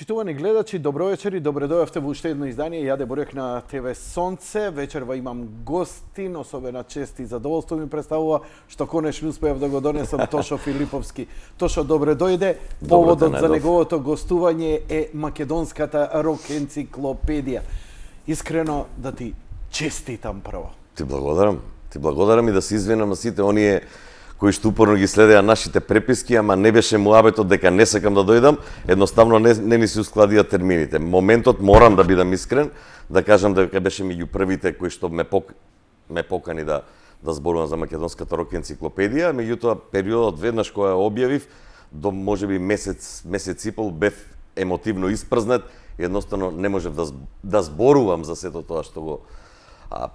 Почитувани гледачи, добро вечер и добре дојавте во уште едно издание. Јаде Борек на ТВ Сонце. Вечерва имам гостин, особена чест и задоволство ми представува што конечно успеав да го донесам Тошо Филиповски. Тошо, добре дојде. Поводот за неговото гостување е македонската рок енциклопедија. Искрено да ти честитам прво. Ти благодарам. Ти благодарам и да се извинам на сите оние кои што упорно ги следеа нашите преписки, ама не беше муабетот дека не сакам да дојдам, едноставно не ми се ускладија термините. Моментот, морам да бидам искрен, да кажам дека беше меѓу првите кои што ме покани да зборувам за македонската рок енциклопедија, меѓутоа периодот веднаш кога ја објавив, до можеби месец и пол бев емотивно испрзнат, едноставно не можев да зборувам за сето тоа што го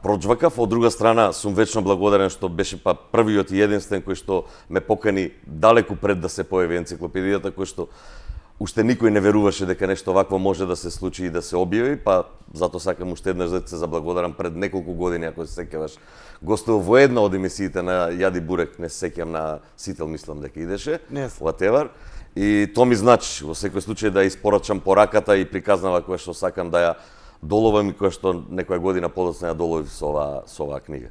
проџвакав. Од друга страна, сум вечно благодарен што беше првиот и единствен кој што ме покани далеку пред да се појави енциклопедијата, кој што уште никој не веруваше дека нешто вакво може да се случи и да се објави, затоа сакам уште еднаш да се заблагодарам. Пред неколку години, ако се сеќаваш, гостував во една од емисиите на Јади Бурек, не се сеќам, на Сител мислам дека идеше, whatever. И тоа ми значи, во секој случај, да испорачам пораката и приказнава која што сакам да ја доловам и која што некоја година подоцна ја доловив со оваа книга.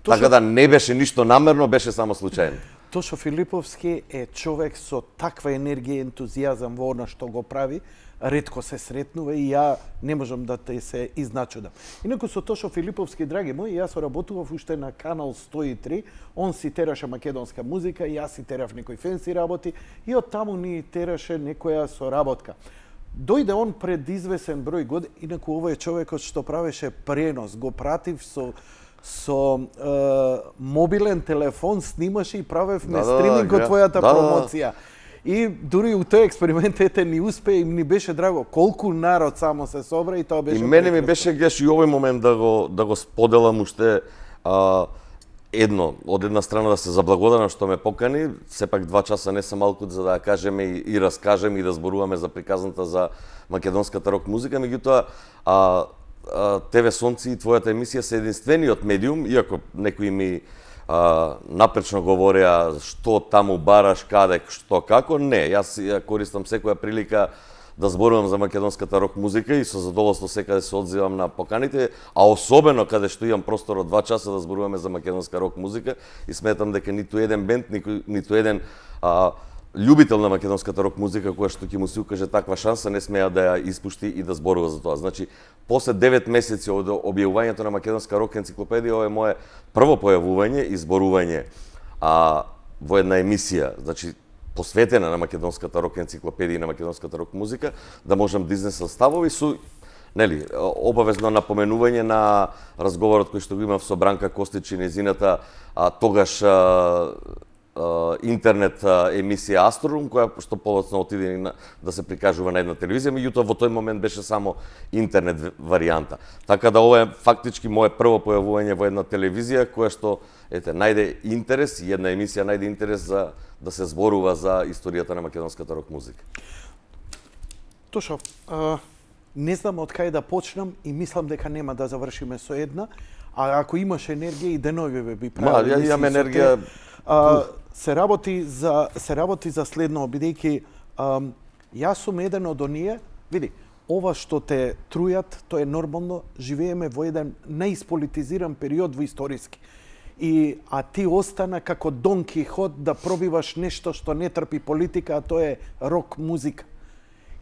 Така да не беше ништо намерно, беше само случајно. Тошо Филиповски е човек со таква енергија и ентузијазам во она што го прави, ретко се сретнува и ја не можам да те се изначудам. Инаку со Тошо Филиповски, драги мои, јас работував уште на Канал 103, он си тераше македонска музика, јас си терав некои фенси работи и од таму ни тераше некоја соработка. Дојде он пред извесен број години, инаку овој е човекот што правеше пренос, го пратив со мобилен телефон, снимаше и правевме стриминг од твојата промоција. И дури у тој експеримент ни успе и ни беше драго колку народ само се собра и тоа беше. И мене ми беше геш и овој момент да го споделам уште од една страна да се заблагодарам што ме покани, сепак 2 часа не се малку за да ја кажеме и раскажеме и да зборуваме за приказната за македонската рок музика, меѓутоа ТВ Сонци и твојата емисија се единствениот медиум, иако некои ми напречно говореа што таму бараш, каде, што, како, не, јас ја користам секоја прилика да зборувам за македонската рок музика и со задоволство секаде се одзивам на поканите, а особено каде што имам простор од 2 часа да зборуваме за македонска рок музика и сметам дека ниту еден бенд, ниту еден љубител на македонската рок музика која што ќе му се укаже таква шанса не смеа да ја испушти и да зборува за тоа. Значи, после 9 месеци од објавувањето на македонска рок енциклопедија, ова е мое прво појавување и зборување во една емисија, значи посветена на македонската рок енциклопедија и на македонската рок музика, да можам да изнесам ставови со обавезно напоменување на разговорот кој што го имав со Бранка Костич и незината тогаш интернет емисија Астрорум, која што подоцна отиде да се прикажува на една телевизија, меѓутоа во тој момент беше само интернет варијанта. Така да ова е фактички мое прво појавување во една телевизија која што најде интерес и една емисија најде интерес за да се зборува за историјата на македонската рок музика. Тошо, не знам од кај да почнам и мислам дека нема да завршиме со една, а ако имаш енергија и денови би правил. Ја имам енергија. Се работи за следно, бидејќи јас сум еден од оние, види, ова што те трујат, тоа е нормално, живееме во еден неисполитизиран период во историски. А ти остана како Дон Кихот да пробиваш нешто што не трпи политика, а тоа е рок музика.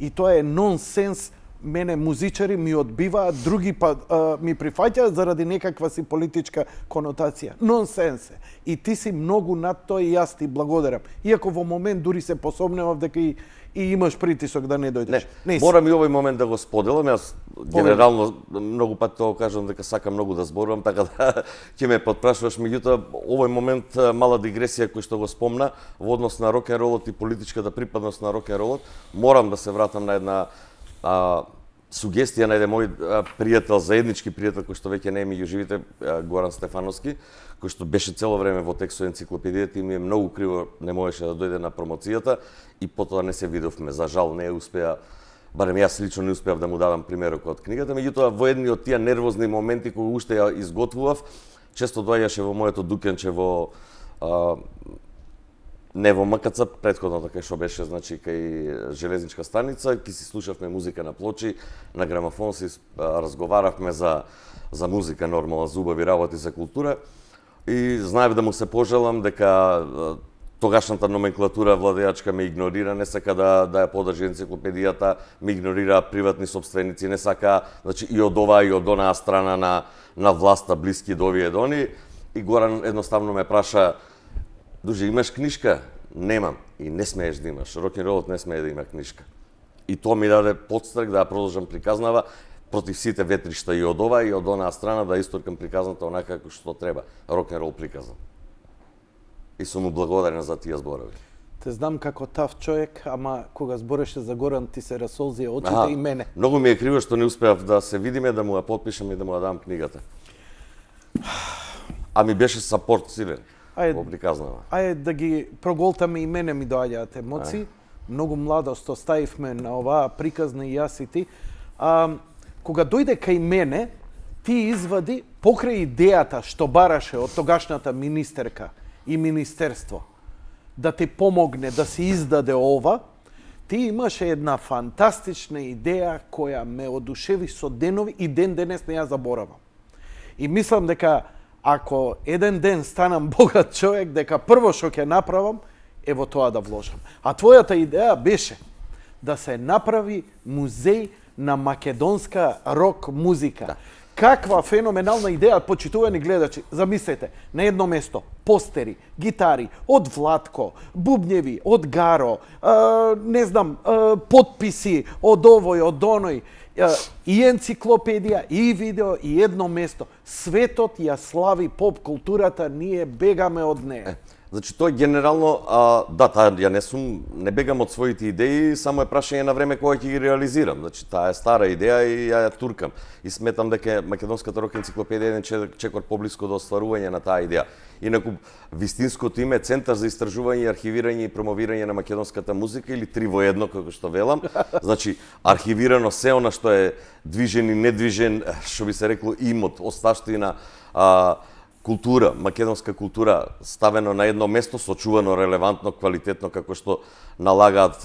И тоа е нонсенс. Мене музичари ми одбиваат, други ми прифаќаат заради некаква си политичка конотација. Нонсенс е. И ти си многу над тоа и јас ти благодарам. Иако во момент дури се посомневав дека и имаш притисок да не дојдеш. Не, морам и овој момент да го споделам. Јас генерално многу пати тоа кажам дека сакам многу да зборувам, така да ќе ме потпрашуваш, меѓутоа овој момент мала дигресија кој што го спомна во однос на рок н ролот и политичката припадност на рок н ролот, морам да се вратам на една сугестија на еден мој пријател, заеднички пријател кој што веќе не е меѓу живите, Горан Стефановски, кој што беше цело време во текст со енциклопедијата и ми е многу криво не можеше да дојде на промоцијата и потоа не се видовме. За жал не успеа, барем јас лично не успеав да му дадам примерок од книгата, меѓутоа во едни од тие нервозни моменти кои уште ја изготвував, често доаѓаше во моето дукенче во не во МКЦ, претходно кај што беше, значи кај железничка станица, ќе си слушавме музика на плочи, на грамофон си разговаравме за музика, нормално, за убави работи, за култура. И знаев да му се пожелам дека тогашната номенклатура владеачка ме игнорира, не сака да ја подржи енциклопедијата, ме игнорира приватни собственици, не сака, значи и од оваа и од онаа страна на власта, блиски до овие дони. И Горан едноставно ме праша: "Друже, имаш книшка?" "Немам." "И не смееш да имаш. Рок-н-ролот не смее да има книшка." И тоа ми даде подстрек да ја продолжам приказнава против сите ветришта и од ова и од онаа страна, да исторкам приказната онака како што треба. Рок-н-рол приказан. И сум му благодарен за тие зборови. Те знам како тав човек, ама кога збореше за Горан ти се расолзија очите и мене. Многу ми е криво што не успеав да се видиме, да му ја потпишам и да му ја дам книгата. А ми беше сапорт силен во приказнава. Ајде да ги проголтаме, и мене ми доаѓаат емоции. Многу младост оставивме на оваа приказна и јас и ти. Кога дојде кај мене, ти извади покрај идејата што бараше од тогашната министерка и министерство да ти помогне да се издаде ова, ти имаше една фантастична идеја која ме одушеви со денови и ден денес не ја заборавам. И мислам дека ако еден ден станам богат човек, дека прво што ќе направам е во тоа да вложам. А твојата идеја беше да се направи музеј на македонска рок музика. Да. Каква феноменална идеја, почитувани гледачи. Замислете, на едно место постери, гитари од Владко, бубњеви од Гаро, не знам, потписи од овој, од оној, и енциклопедија, и видео, и едно место. Светот ја слави поп културата, ние бегаме од неја. Значи, тоа генерално, да, ја не бегам од своите идеи, само е прашање на време кога ќе ги реализирам. Значи, таа е стара идеја и ја туркам. И сметам дека македонската рок енциклопедија е еден чекор поблиско до остварување на таа идеја. Инаку, вистинското име е Центар за истражување, архивирање и промовирање на македонската музика, или 3 во 1, како што велам. Значи, архивирано се она што е движен и недвижен, што би се рекло, имот, осташтина, култура, македонска култура, ставено на едно место, сочувано, релевантно, квалитетно, како што налагаат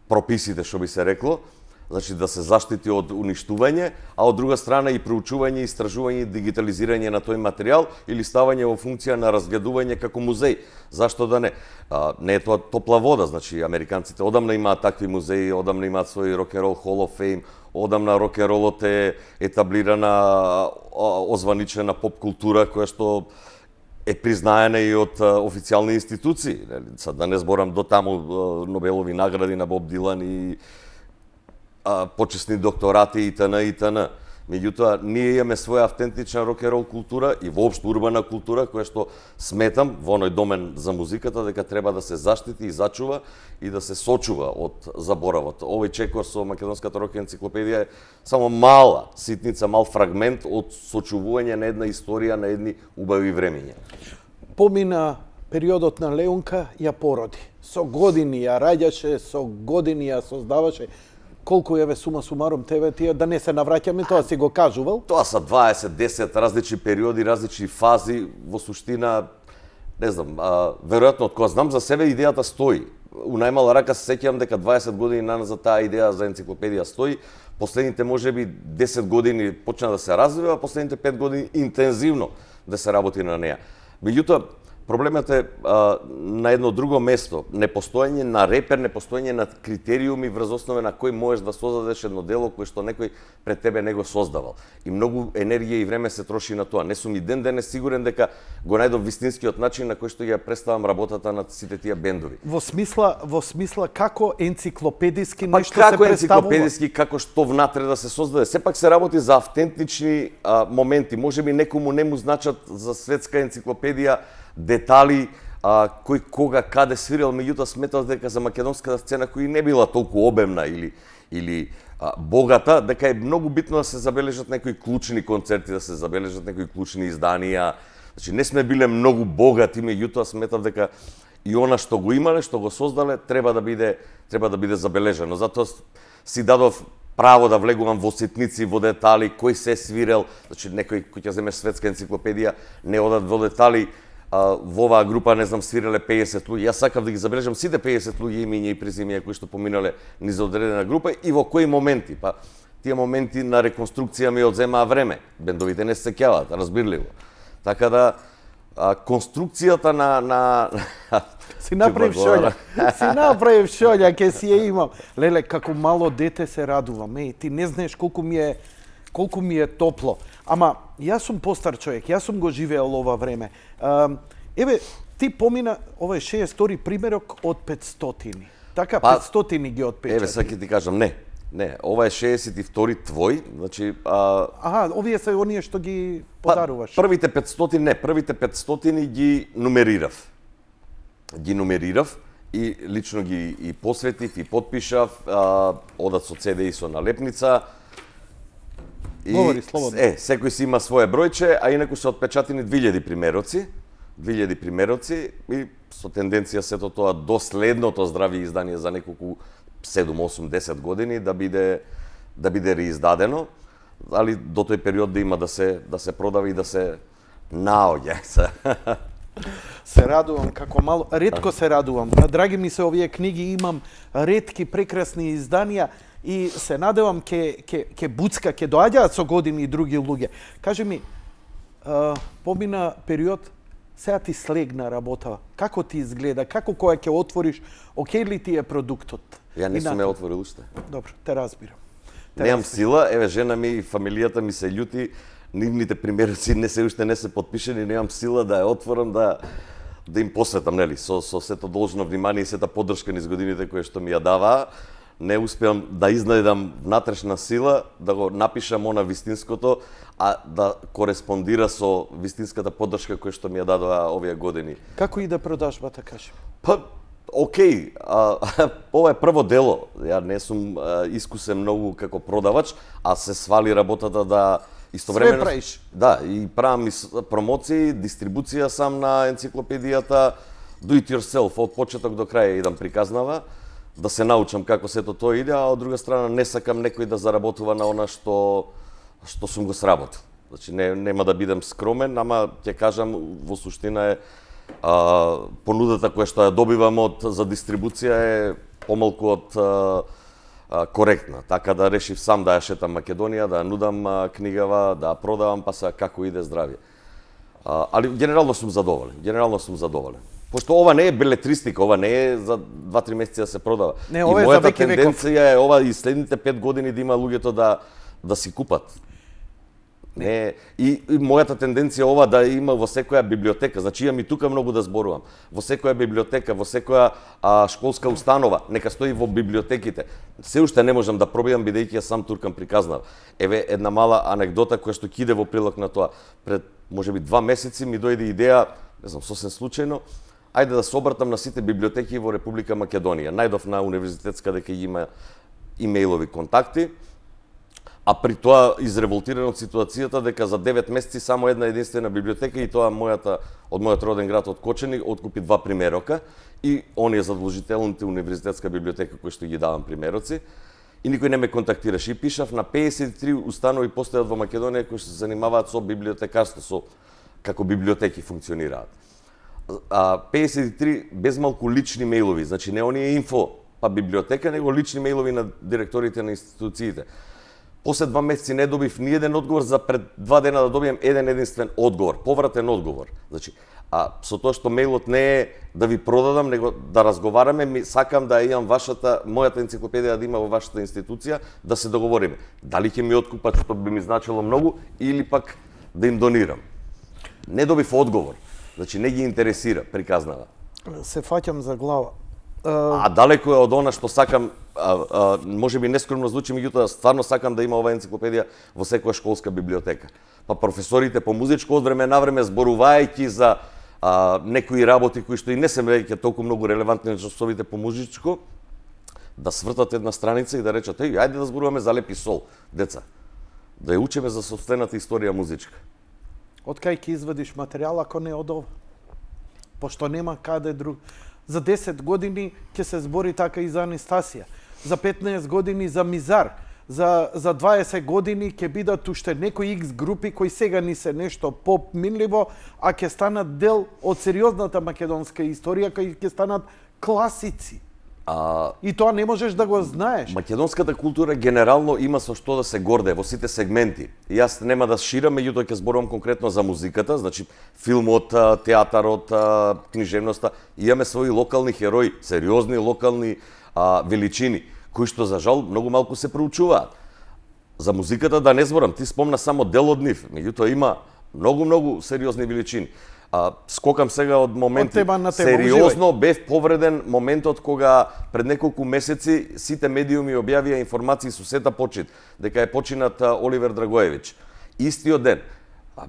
прописите, што би се рекло. Значи, да се заштити од уништување, а од друга страна и проучување, истражување и дигитализирање на тој материјал или ставање во функција на разгледување како музеј. Зашто да не? Не е тоа топла вода, значи, американците одамна имаат такви музеи, одамна имаат свој рок-н-рол Hall of Fame, одамна рок-н-ролот е етаблирана, озваничена поп култура која што е признаена и од официјални институции. Сад да не зборам до таму Нобелови награди на Боб Дилан и почесни докторати и т.н. Меѓутоа, ние имаме своја автентична рок-н-рол култура и воопшто урбана култура, која што сметам во оној домен за музиката дека треба да се заштити и зачува и да се сочува од заборавот. Овој чекор со македонската рок енциклопедија е само мала ситница, мал фрагмент од сочувување на една историја, на едни убави времиња. Помина периодот на Леунка, ја породи. Со години ја раѓаше, со години ја создаваше. Колку еве сума сумарум тебе тие, да не се навраќаме, тоа си го кажувал? Тоа се 20, 10 различни периоди, различни фази, во суштина, не знам, веројатно од кога знам за себе идејата стои. У најмала рака се сеќавам дека 20 години наназад таа идеја за енциклопедија стои. Последните можеби 10 години почна да се развива, а последните 5 години интензивно да се работи на неа. Меѓутоа, проблемот е на едно друго место, непостоење на репер, непостоење на критериуми врз основа на кој можеш да создадеш едно дело кое што некој пред тебе не го создавал. И многу енергија и време се троши на тоа. Не сум и ден денес сигурен дека го најдов вистинскиот начин на кој што ја представам работата на сите тие бендови. Во смисла како енциклопедиски нешто се представува? Како енциклопедиски, како што внатре да се создаде. Сепак се работи за автентични моменти. Можеби некому не му значат за светска енциклопедија детали, кој кога каде свирил, меѓутоа сметал дека за македонската сцена која не била толку обемна или богата, дека е многу битно да се забележат некои клучни концерти, да се забележат некои клучни изданија. Значи не сме биле многу богати, меѓутоа сметав дека и она што го имале, што го создале, треба да биде забележано. Затоа си дадов право да влегувам во ситници, во детали, кој се свирел, значи некој кој ќе земеш светска енциклопедија, не одат во детали во оваа група, не знам, свиреле 50 луѓе. Јас сакав да ги забележам сите 50 луѓе, имиња и презимиња кои што поминале низ одредена група и во кои моменти. Па тие моменти на реконструкција ми одземаа време. Бендовите не се сеќаваат, разбирливо. Така да конструкцијата на Си направив шолја, ке си ја имам. Леле, како мало дете се радувам. Ти не знаеш колку ми е топло. Ама, јас сум постар човек, јас сум го живеел ова време. Еве, ти помина, ова е 62 примерок од 500. Така, 500 ги отпечати. Еве, сега ќе ти кажам, не, ова е 62 твој, значи... овие се оние што ги подаруваш. Првите 500 ги нумерирав. И лично ги и посветив, и подпишав, одат со CD и со налепница. Говори слободно. Секој си има свое бројче, а инаку се отпечатени 2000 примероци и со тенденција сето тоа до следното здрави издание за неколку 7, 8, 10 години да биде реиздадено, али до тој период да има да се продава и да се наоѓа. Се радувам како мало, ретко се радувам. Драги ми се овие книги, имам ретки прекрасни изданија и се надевам ке буцка, ке доаѓаат со години и други луѓе. Кажи ми, помина период, сега ти слегна работа. Како ти изгледа? Како кога ќе отвориш, окей ли ти е продуктот? Ја не сум ја отворил уште. Добро, те разбирам. Немам сила, еве жена ми и фамилијата ми се љути, нивните примероци уште не се подпишени, немам сила да ја отворам, да им посветам, нели, со сето должно внимание и сета поддршка низ годините кои што ми ја даваа. Не успеам да изнајдам внатрешна сила, да го напишам она вистинското, а да кореспондира со вистинската поддршка која што ми ја дадоа овие години. Како иде продажбата, кажи? Па, окей, ова е прво дело. Ја не сум искусен многу како продавач, а се свали работата да истовремено... Све правиш? Да, и правам промоции, дистрибуција сам на енциклопедијата, do it yourself, од почеток до крај идам приказнава, да се научам како сето тоа иде, а од друга страна не сакам некој да заработува на она што сум го сработил. Значи нема да бидам скромен, ама ќе кажам во суштина е понудата која што ја добивам за дистрибуција е помалку од коректна. Така да решив сам да ја шетам Македонија, да ја нудам книгава, да ја продавам, па сега како иде здравје. Али генерално сум задоволен. Пошто ова не е белетристика, ова не е за 2-3 месеци да се продава. Не, ова е за веќе веков. Тенденција е ова и следните 5 години да има луѓето да си купат. Не, и мојата тенденција ова да има во секоја библиотека, значи имам и тука многу да зборувам. Во секоја библиотека, во секоја школска установа, нека стои во библиотеките. Се уште не можам да пробивам бидејќи ја сам туркам приказнав. Еве една мала анекдота која што ќе иде во прилог на тоа. Пред можеби 2 месеци ми дојде идеја, не знам, сосем случајно, ајде да се обратам на сите библиотеки во Република Македонија. Најдов на универзитетска дека има имејлови контакти, а при тоа изреволтиран од ситуацијата дека за 9 месеци само една единствена библиотека и тоа од мојот роден град од Кочани откупи 2 примерока и оние задолжителните универзитетска библиотека кои што ги давам примероци и никој не ме контактираше и пишав на 53 установи постојат во Македонија кои што се занимаваат со библиотекарство, со како библиотеки функционираат. 53 безмалку лични мејлови, значи не оние инфо па библиотека, него лични мејлови на директорите на институциите. После 2 месеци не добив ни еден одговор, за пред 2 дена да добием еден единствен одговор, повратен одговор. Значи, со тоа што мејлот не е да ви продадам, него да разговараме, сакам да имам мојата енциклопедија да има во вашата институција, да се договориме. Дали ќе ми откупат, што би ми значило многу, или пак да им донирам. Не добив одговор. Значи, не ги интересира, приказнава. Се фаќам за глава. А далеко е од она што сакам, може би нескромно звучи, меѓутоа стварно сакам да има оваа енциклопедија во секоја школска библиотека. Па професорите по музичко од време на време зборувајќи за некои работи кои што и не се веќе толку многу релевантни на часовите по музичко, да свртат една страница и да речат: ајде да зборуваме за леп и сол, деца. Да ја учиме за сопствената историја музичка. Од кај ќе извадиш материјал ако не од ова? Пошто нема каде друг. За 10 години ќе се збори така и за Анастасија. За 15 години за Мизар. за 20 години ќе бидат уште некои X групи кои сега ни се нешто попминливо, а ќе станат дел од сериозната македонска историја, кои ќе станат класици. И тоа не можеш да го знаеш. Македонската култура генерално има со што да се горде во сите сегменти. И јас нема да ширам, меѓутоа ќе зборувам конкретно за музиката, значи филмот, театарот, книжевноста. Имаме своји локални херои, сериозни локални величини, кои што за жал многу малку се проучуваат. За музиката да не зборам, ти спомна само дел од нив, меѓутоа има многу сериозни величини. Скокам сега од моменти. Сериозно бев повреден моментот кога пред неколку месеци сите медиуми објавија информации со сета почит дека е починат Оливер Драгоевич. Истиот ден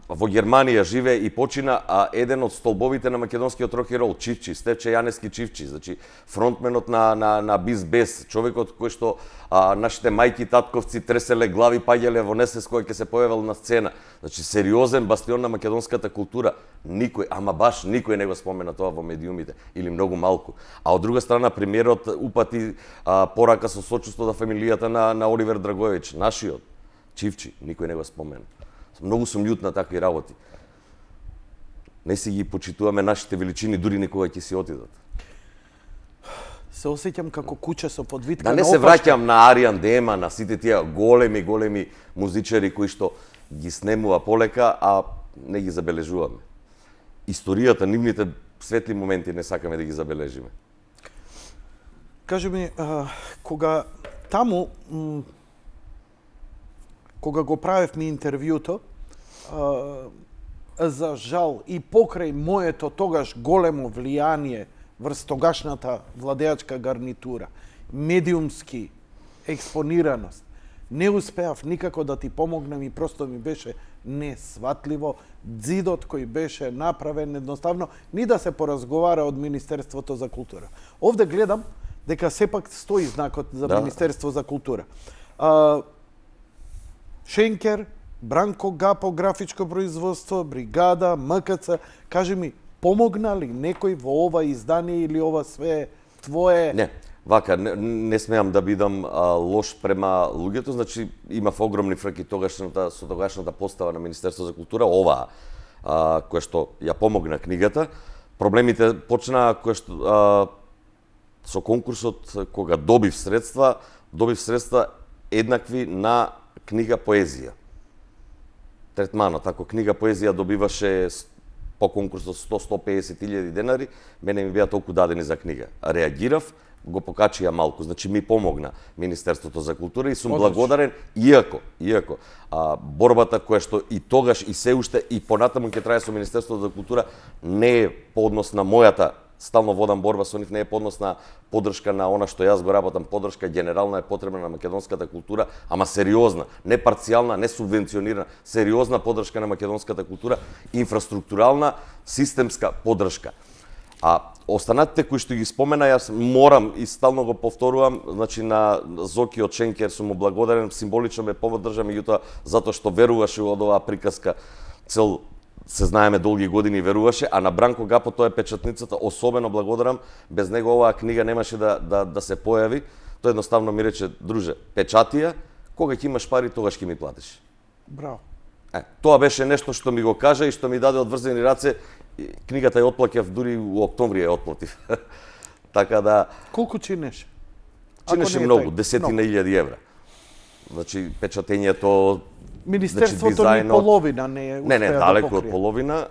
во Германија живее и почина еден од столбовите на македонскиот рок и рол, Чивчи, Стефче Јанески Чивчи, значи фронтменот на Биз Бес, човекот кој што нашите мајки, татковци треселе глави, паѓале во несвест кога ќе се појавил на сцена. Значи сериозен бастион на македонската култура. Никој, ама баш никој не го спомена тоа во медиумите или многу малку. А од друга страна премиерот упати порака со сочувство до фамилијата на Оливер Драгоевич, нашиот Чивчи, никој не го спомена. Многу сум љут на такви работи. Не си ги почитуваме нашите величини, дури никога ќе си отидат. Се осеќам како куче со подвитка. Да не се враќам на Ариан Дема, на сите тие големи музичари кои што ги снемува полека, а не ги забележуваме. Историјата, нивните светли моменти не сакаме да ги забележиме. Кажи ми, кога таму кога го правевме интервјуто, за жал и покрај моето тогаш големо влијание врз тогашната владеачка гарнитура, медиумски експонираност, не успеав никако да ти помогнам и просто ми беше несватливо дзидот кој беше направен едноставно ни да се поразговара од Министерството за култура. Овде гледам дека сепак стои знакот за Министерство за култура. Шенкер, Бранко Гапо, графичко производство, Бригада, МКЦ. Кажи ми, помогна ли некој во ова издание или ова све твое? Не, вака, не смеам да бидам лош према луѓето, значи имав огромни фрки со тогашната постава на Министерство за култура, оваа, која што ја помогна книгата. Проблемите почнаа со конкурсот, кога добив средства еднакви на книга поезија. Третманот, ако книга поезија добиваше по конкурсот 100-150 денари, мене ми беа толку дадени за книга. Реагирав, го покачија малку, значи ми помогна Министерството за култура и сум благодарен, иако борбата која што и тогаш и се уште и понатаму ќе трае со Министерството за култура не е по однос на мојата стално водам борба со нив, не е по однос на поддршка на она што јас го работам, поддршка генерална е потребна на македонската култура, ама сериозна, не парцијална, не субвенционирана, сериозна поддршка на македонската култура, инфраструктурална, системска поддршка. А останатите кои што ги спомена, јас морам и стално го повторувам, значи на Зоки од Шенкер сум му благодарен, символично ме поддржа, меѓутоа затоа што веруваше од оваа приказка, цел се знаеме долги години веруваше, а на Бранко Гапо тоа е печатницата, особено благодарам, без него оваа книга немаше да се појави. Тој едноставно ми рече, друже, печатија, кога ќе имаш пари, тогаш ќе ми платиш. Браво. Тоа беше нешто што ми го кажа и што ми даде одврзени раце. Книгата ја отплакев, дури у октомври ја отплатив. Така да... Колку чинеше? Чинеше многу, десетина илјади евра. Значи, печатењето... Министерството ни половина не е успеа да покрие. Не, далеко од половина.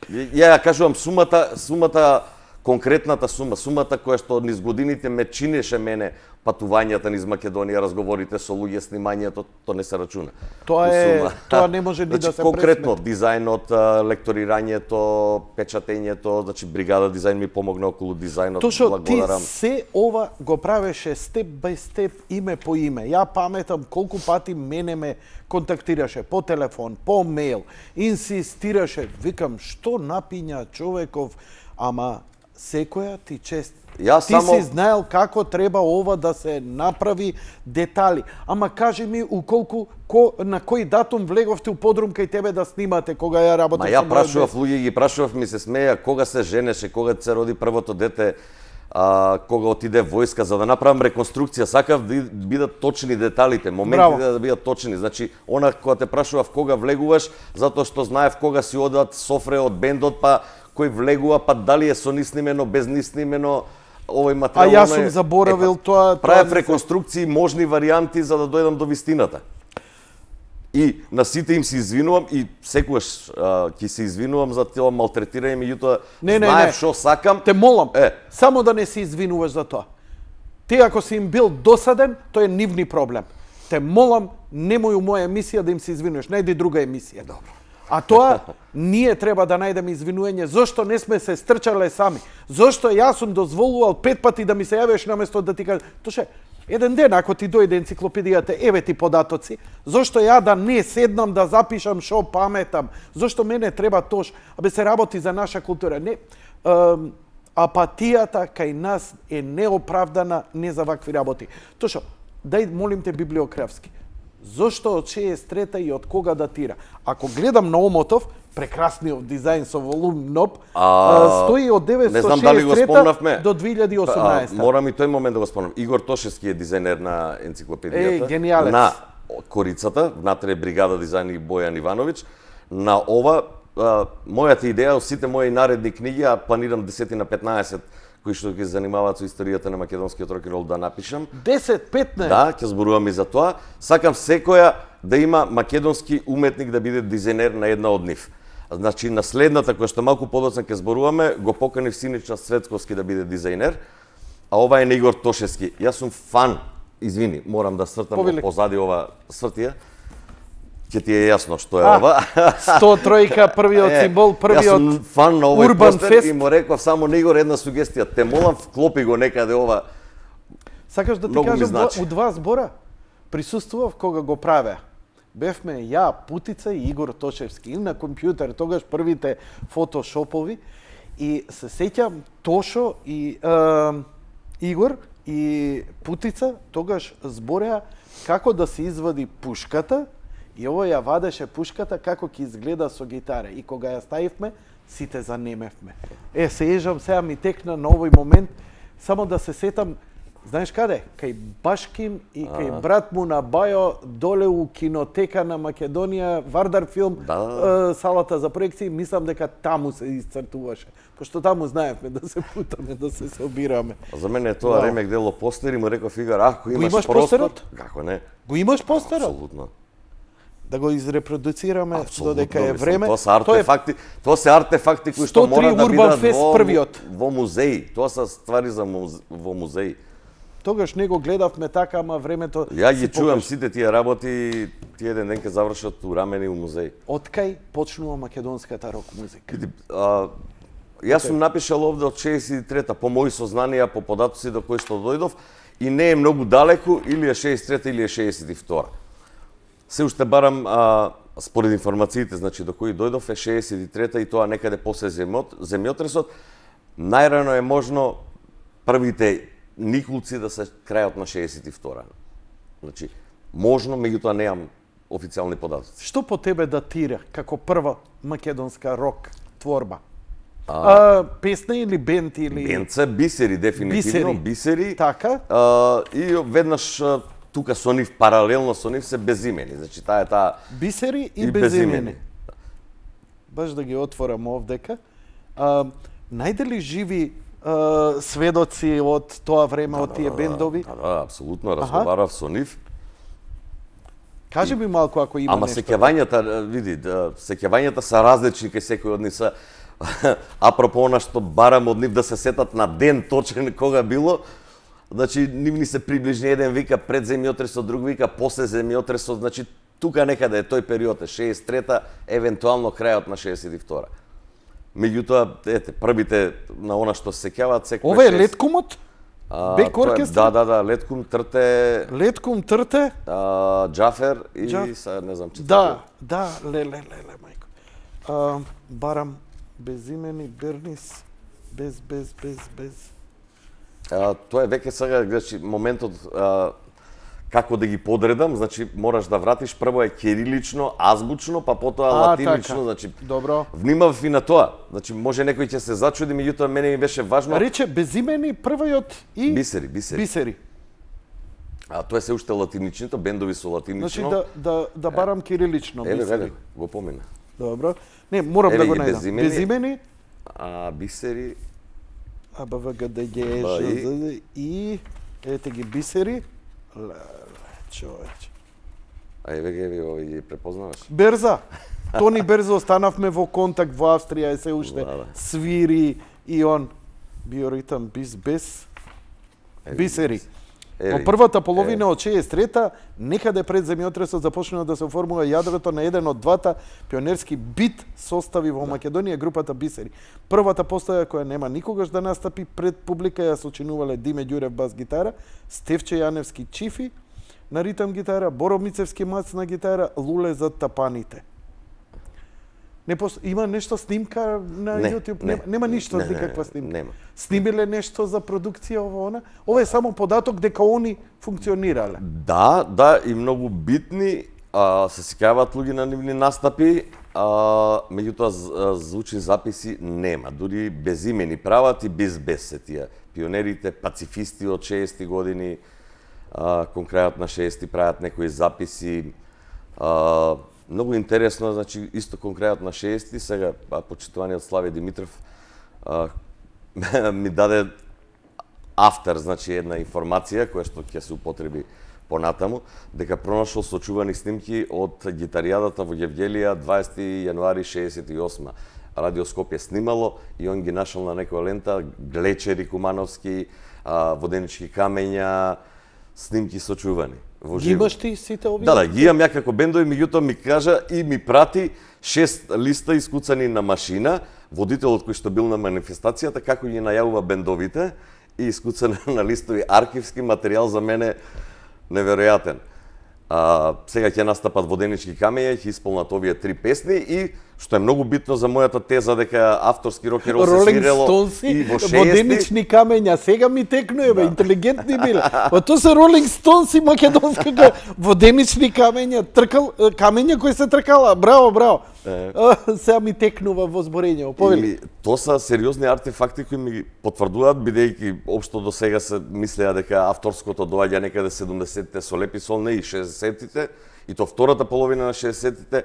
Ја кажувам сумата, конкретната сумата која што низ годините ме чинеше мене патувањата низ Македонија, разговорите со луѓе, снимањето, тоа не се рачуна. Тоа не може ни да се конкретно дизајнот, лекторирањето, печатењето, значи Бригада дизајн ми помогна околу дизајнот, благодарам. Ти се ова го правеше степ бај степ, име по име. Ја паметам колку пати мене ме контактираше по телефон, по мејл, инсистираше, викам, што напиња човеков, ама секоја ти чест. Ти си знаел како треба ова да се направи, детали. Ама кажи ми на кој датум влеговте у подрум кај тебе да снимате кога ја работев? Ја прашував луѓе, ги прашував, ми се смеја кога се женеше, кога се роди првото дете. кога отиде војска, за да направам реконструкција, сакав да бидат точни деталите, моментите да бидат точни. Значи, она кога те прашував кога влегуваш, затоа што знаев кога си одат софре од бендот, па кој влегува, па дали е со ни снимено, без ни снимено, овој материјал. А јас сум заборавил тоа. Правев реконструкции, можни варијанти за да дојдам до вистината. И на сите им се извинувам и секогаш ќе се извинувам за тоа малтретирање, меѓутоа знаев што сакам. Те молам, само да не се извинуваш за тоа. Ти ако си им бил досаден, тоа е нивни проблем. Те молам, немој у моја емисија да им се извинуваш, најди друга емисија. Добро. А тоа, ние треба да најдеме извинување. Зошто не сме се стрчале сами? Зошто јас сум дозволувал 5 пати да ми се јавиш наместо да ти кажам, тоше, еден ден ако ти дојде енциклопедијата, еве ти податоци, зошто ја да не седнам да запишам шо паметам? Зошто мене треба тош? Абе се работи за наша култура. Не, апатијата кај нас е неоправдана, не за вакви работи. Тошо, дај молим те библиографски. Зошто од 63-та и од кога датира? Ако гледам на Омотов, прекрасниот дизајн со волум НОП, стои од 963 до 2018. Морам и тој момент да го спомнам. Игор Тошевски е дизајнер на енциклопедијата. Гениалец. На корицата, внатре бригада дизајн и Бојан Ивановиќ. На ова, мојата идеја, сите мои наредни книги, а планирам 10 на 15 кои што ќе занимаваат со историјата на македонскиот рок-н-рол да напишам. 10-15? Да, ќе зборувам и за тоа. Сакам секоја да има македонски уметник да биде дизајнер на една од нив. Значи, на следната, која што малку подоцна ќе зборуваме, го поканив Синична Светковски да биде дизајнер, а ова е на Игор Тошевски. Јас сум фан, извини, морам да свртам позади ова свртија. Ќе ти е јасно што е ова. 103-ка, првиот символ, првиот Јас сум фан на овој Урбан постер Фест. и му реков само на Игор една сугестија. Те молам, вклопи го некаде ова. Сакаш да ти кажам, у два збора присуствував кога го правеа. Бевме ја, Путица и Игор Тошевски. И на компјутер, тогаш првите фотошопови. И се сеќам Тошо и Игор и Путица тогаш збореа како да се извади пушката и овој ја вадеше пушката како ќе изгледа со гитара. И кога ја ставивме, сите занемевме. Се ежам, сега ми текна на овој момент, само да се сетам, знаеш каде? Кај Башким и кај брат му на Бајо, доле у кинотека на Македонија, Вардар филм, салата за проекции, мислам дека таму се исцртуваше. Пошто таму знаевме да се путаме, да се собираме. За мене тоа ремек дело постери, му реков Игор, ако имаш простор, како не? Го имаш постерот? Апсолутно. Да го изрепродуцираме додека е време. Тоа се артефакти кои што мора да бидат во музеи. Тоа се ствари за во музеи. Тогаш не го гледавме така, ама времето ја ги чувам сите тие работи, тие еден ден ќе завршат урамени у музеи. Откај почнува македонската рок музика? Јас сум напишал овде од 63-та, по мои сознанија, по податоци до кои што дојдов, и не е многу далеку, или е 63-та, или е 62-та. Се уште барам, според информациите, значи, до кои дојдов е 63-та и тоа некаде после земјотресот. Најрано е можно првите Николци да се крајот на 62-та. Значи, можно, меѓутоа неам официјални податоци. Што по тебе датира како прва македонска рок творба? Песна или бенд или... Бенд се Бисери, дефинитивно. Бисери. Така. И веднаш тука со нив, паралелно со нив се Безимени. Значи, таа е таа... Бисери и Безимени. Баш да ги отворам овдека. Најде ли живи сведоци од тоа време, од тие бендови? Да, апсолутно, разговарав со нив. Кажи ми малку ако има нешто. Сеќавањата, види, сеќавањата се различни кај секој од нив се. Апропо она што барам од нив да се сетат на ден точен кога било, значи нивни се приближни, еден вика пред земјотресот, друг вика после земјотресот, значи тука некаде е тој период, 63-та, евентуално крајот на 62-та. Меѓутоа, ете, првите на она што се сеќаваат секој. Ова е Леткумот? Бек оркестра? Да, Леткум, Трте... Леткум, Трте? Џафер и не знам че. Да, леле, мајко. Барам Безимени, Бернис, без. Тоа е веќе сега, значи, моментот како да ги подредам, значи мораш да вратиш прво е кирилично, азбучно, па потоа латинично, така. значи Добро. внимав и на тоа. Значи може некој ќе се зачуди, меѓутоа мене ми беше важно. Рече безимени првиот и Бисери. бисери. А тоа е се уште латиничното, бендови со латинично. Значи да барам кирилично бисери. Го помина. Добро. Не, морам да го ги најдам. Безимени, бисери, АБВГДГ и ете ги бисери. Човече. еве ги препознаваш. Берза. Тони Берза останавме во контакт во Австрија, се уште свири и он биоритам без бисери. Во првата половина од 63-та, некаде пред земјотресот започнува да се оформува јадрото на еден од двата пионерски бит состави во Македонија, групата Бисери. Првата постоја која нема никогаш да настапи пред публика ја сочинувале Диме Ѓурев бас гитара, Стевче Јаневски чифи на ритам гитара, Боро Мицевски мац на гитара, Луле за тапаните. Има нешто снимка на YouTube? Нема ништо, никаква снимка. Нема. Снимиле нешто за продукција ова? Ова е само податок дека они функционирале. Да, и многу битни, се сикаваат луѓе на нивни настапи, меѓутоа звучни записи нема. Дури безимени прават и без се тие. Пионерите, пацифисти од 60-ти години, кон крајот на 60-ти прават некои записи. Многу интересно, значи, исто кон крајот на 60-ти, сега почитуваниот Славе Димитров ми даде автор, значи една информација која што ќе се употреби понатаму, дека пронашол сочувани снимки од гитаријадата во Гевгелија 20 јануари 68. Радио Скопје снимало и он ги нашол на некоја лента Глечери Кумановски, Воденички камења, снимки сочувани. Ги имаш ти сите овие? Да, ги имам ја како бендови, меѓутоа ми кажа и ми прати 6 листа искуцани на машина, водителот кој што бил на манифестацијата, како ги најавува бендовите и искуцан на листови архивски материјал за мене неверојатен. Сега ќе настапат Воденички камења, ќе исполнат овие 3 песни и што е многу битно за мојата теза дека авторски рок н рол се свирело и во 60-ти. Воденични камења, сега ми текнуе, интелигентни биле. Па тоа се Ролинг Стоунси македонскага Воденични камења, камења кои се тркала. Браво. Сега ми текнува во зборење. Повели. Тоа се сериозни артефакти кои ми потврдуваат, бидејќи општо до сега се мислеа дека авторското доаѓа некаде 70-те со Лепи Сол, не и 60-тите, и то втората половина на 60-тите.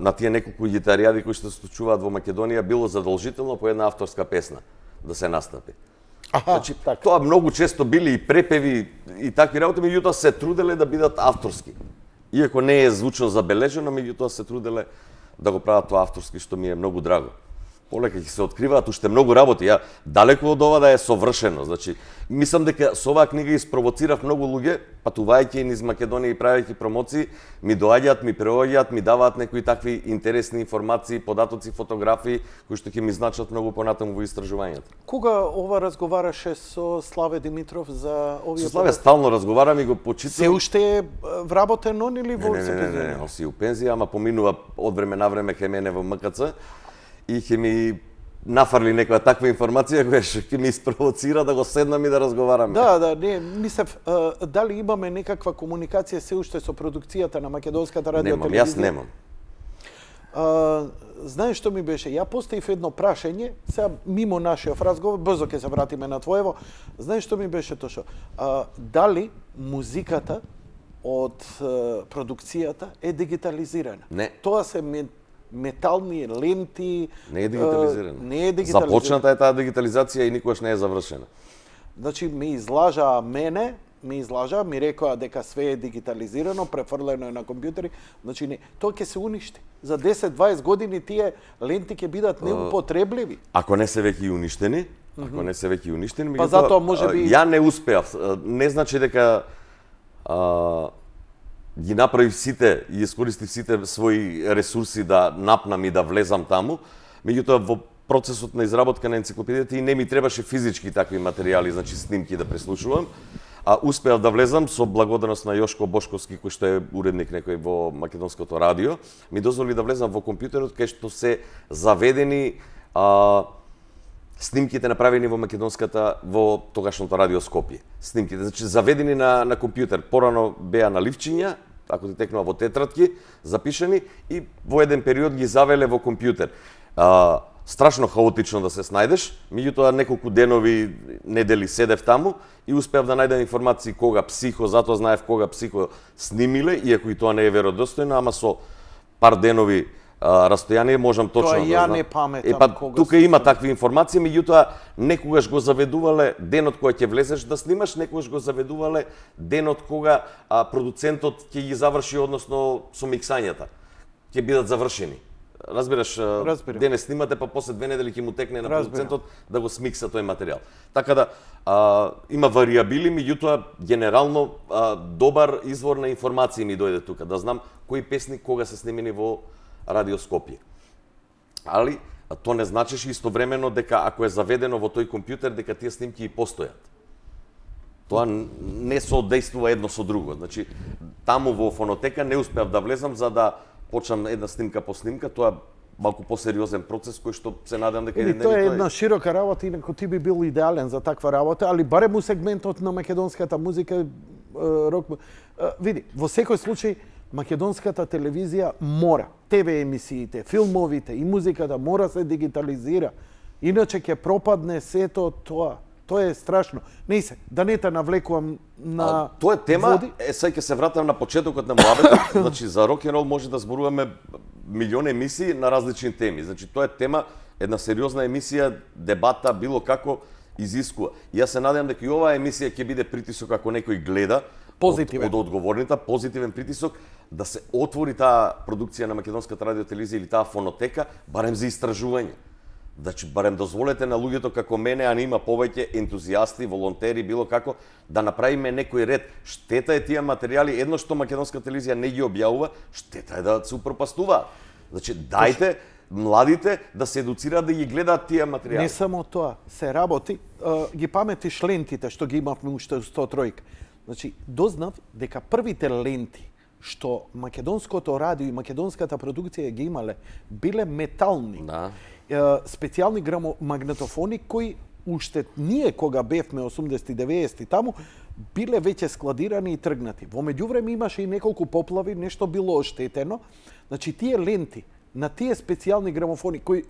На тие неколку гитаријади кои што се случуваат во Македонија било задолжително по една авторска песна да се настапи. Значи, тоа многу често били и препеви и такви работи, меѓутоа се труделе да бидат авторски. Иако не е звучно забележено, меѓутоа се труделе да го прават тоа авторски, што ми е многу драго. Полека ќе се откриваат уште многу работи. Ја далеку од ова да е совршено. Значи, мислам дека со оваа книга испровоцирав многу луѓе, патувајќи низ Македонија и правејќи промоции, ми доаѓаат, ми преоѓаат, ми даваат некои такви интересни информации, податоци, фотографии кои што ќе ми значат многу понатаму во истражувањето. Кога ова разговараше со Славе Димитров за овие? Со Славе стално разговарам и го почитувам. Се уште е вработен он или во Не, он си у пензија, ама поминува од време на време кај мене во МКЦ. И ќе ми нафарли некоја таква информација која ќе ми испровоцира да го седнам и да разговараме. Да, не, мислев, дали имаме некаква комуникација се уште со продукцијата на македонската радиотелевизија? Јас немам. Знаеш што ми беше? Ја поставив едно прашање, сега мимо нашиот разговор, брзо ќе се вратиме на твоево. Знаеш што ми беше тоа? Дали музиката од продукцијата е дигитализирана? Не. Тоа се метални ленти. Не е дигитализирана. Не е дигитализирана. Започната е таа дигитализација и никогаш не е завршена. Значи, ми излажаа мене, ми рекоа дека све е дигитализирано, префрлено е на компјутери. Значи, не, тоа ќе се уништи. За 10-20 години тие ленти ќе бидат неупотребливи. Ако не се веќе уништени, па затоа можеби ја не успеав. Не значи дека ги направив сите и искористив сите своји ресурси да напнам и да влезам таму, меѓутоа во процесот на изработка на енциклопедијата и не ми требаше физички такви материјали, значи снимки да преслушувам, успеав да влезам со благодарност на Јошко Бошковски, кој што е уредник некој во македонското радио, ми дозволи да влезам во компјутерот кај што се заведени снимките направени во македонската, во тогашното радио Скопје. Снимките, значи заведени на компјутер. Порано беа на ливчиња, ако ти текнува во тетрадки, запишани и во еден период ги завеле во компјутер. Страшно хаотично да се снајдеш, меѓутоа неколку денови, недели седев таму и успеав да најдам информации кога Психо, затоа знаев кога Психо снимиле, иако и тоа не е веродостојно, ама со пар денови растојание можам точно да знам. Не паметам кога. Тука има такви информации, меѓутоа некогаш го заведувале денот кога ќе влезеш да снимаш, некогаш го заведувале денот кога продуцентот ќе ги заврши, односно со миксањата. Ќе бидат завршени. Разбираш, денес снимате, па после 2 недели ќе му текне на продуцентот да го смикса тој материјал. Така да има варијабили, меѓутоа генерално добар извор на информации ми дојде тука, да знам кои песни кога се снимени во Радио Скопје. Али тоа не значеше истовремено дека ако е заведено во тој компјутер дека тие снимки и постојат. Тоа не соодействува едно со друго. Значи, таму во фонотека не успеав да влезам за да почнам една снимка по снимка, тоа малку посериозен процес кој што се надам дека еден ден тоа е една широка работа, инаку ти би бил идеален за таква работа, али барем у сегментот на македонската музика, рок. Види, во секој случај македонската телевизија мора, ТВ емисиите, филмовите и музиката мора се дигитализира. Иначе ќе пропадне сето тоа. Тоа е страшно. Не се, да не те навлекувам на тоа е тема, сега ќе се вратам на почетокот на муабетот. Значи за рок н рол може да зборуваме милиони емисии на различни теми. Значи тоа е тема, една сериозна емисија, дебата, било како изискува. И јас се надевам дека и оваа емисија ќе биде притисок ако некој гледа позитивен. Од одговорните, позитивен притисок да се отвори таа продукција на македонската радиотелевизија или таа фонотека барем за истражување. Значи, барем дозволете на луѓето како мене, а не има повеќе ентузијасти, волонтери, било како, да направиме некој ред. Штета е тие материјали, едно што македонска телевизија не ги објавува, штета е да се упропастуваат. Значи, дајте младите да се едуцираат да ги гледаат тие материјали. Не само тоа, се работи, ги паметиш лентите што ги имавме уште 103. Значи, дознав дека првите ленти што македонското радио и македонската продукција ги имале, биле метални. Да. Специјални магнетофони кои уште ние кога бевме 80-90 таму биле веќе складирани и тргнати. Во меѓувреме имаше и неколку поплави, нешто било оштетено. Значи тие ленти на тие специјални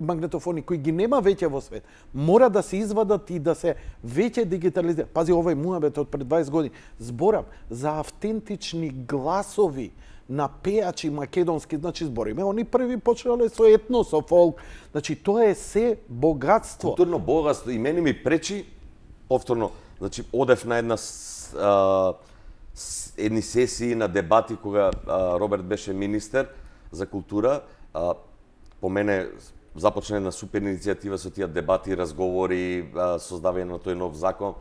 магнетофони кои ги нема веќе во свет, мора да се извадат и да се веќе дигитализираат. Пази, овој муабет од пред 20 години. Зборам за автентични гласови на пејачи македонски, значи збориме, они први почнале со етно, со фолк. Значи тоа е се богатство. Културно богатство и мене ми пречи повторно, значи одев на едни сесии на дебати кога Роберт беше министер за култура. По мене започна една супер иницијатива со тие дебати, разговори, создавање на тој нов закон.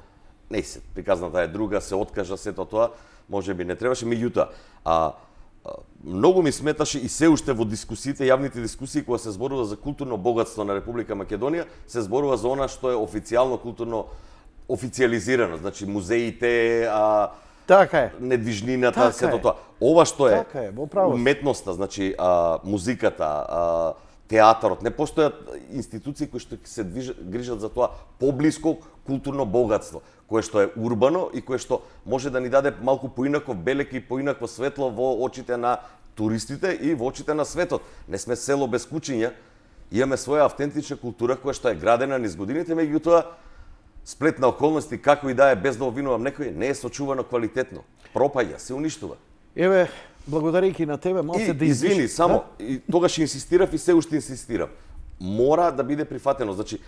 Не се, приказната е друга, се откажа сето тоа, можеби не требаше, меѓутоа многу ми сметаше и се уште во дискусиите, јавните дискусии кога се зборува за културно богатство на Република Македонија, се зборува за она што е официјално културно официализирано, значи музеите, така е. Недвижнината, така сето тоа. Ова што е, така е, уметноста, значи музиката, театарот, не постојат институции кои што се грижат за тоа поблиско културно богатство, кое што е урбано и кое што може да ни даде малку поинаков белек и поинакво светло во очите на туристите и во очите на светот. Не сме село без кучиња, имаме своја автентична култура која што е градена низ годините, меѓутоа сплет на околности како и да е, без да обвинувам некој, не е сочувано квалитетно. Пропаѓа, се уништува. Еве, благодарејќи на тебе, малце да извини, само и тогаш инсистирав и се уште инсистирам. Мора да биде прифатено, значи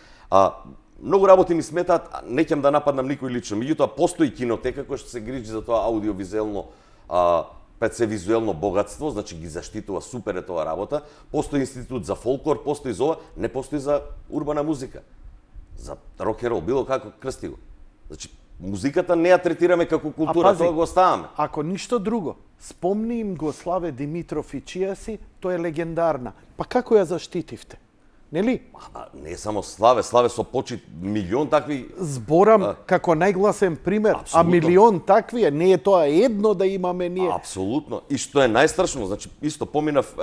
многу работи ми сметаат, не ќе да нападнам никој лично, меѓутоа постои кинотека која што се грижи за тоа аудиовизуелно визуелно богатство, значи ги заштитува, супер е тоа работа. Постои институт за фолклор, постои за ова, не постои за урбана музика. За рок н рол, било како крсти го. Значи музиката не ја третираме како култура, тоа го оставаме. Ако ништо друго, спомни им го Славе Димитров и чија си, тоа е легендарна. Па како ја заштитивте? нели? Не само Славе со почит милион такви. Зборам како најгласен пример, Апсолутно. милион такви, не е тоа едно да имаме ние. Апсолутно. И што е најстрашно, значи исто поминав,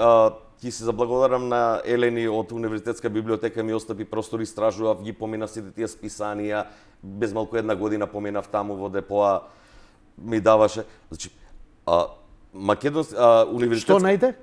ќе се заблагодарам на Елени од Универзитетска библиотека, ми остапи простор, истражував, ги поминав сите тие списанија, без малку една година поминав таму во депоа, ми даваше. Значи, универзитетска... Што најде?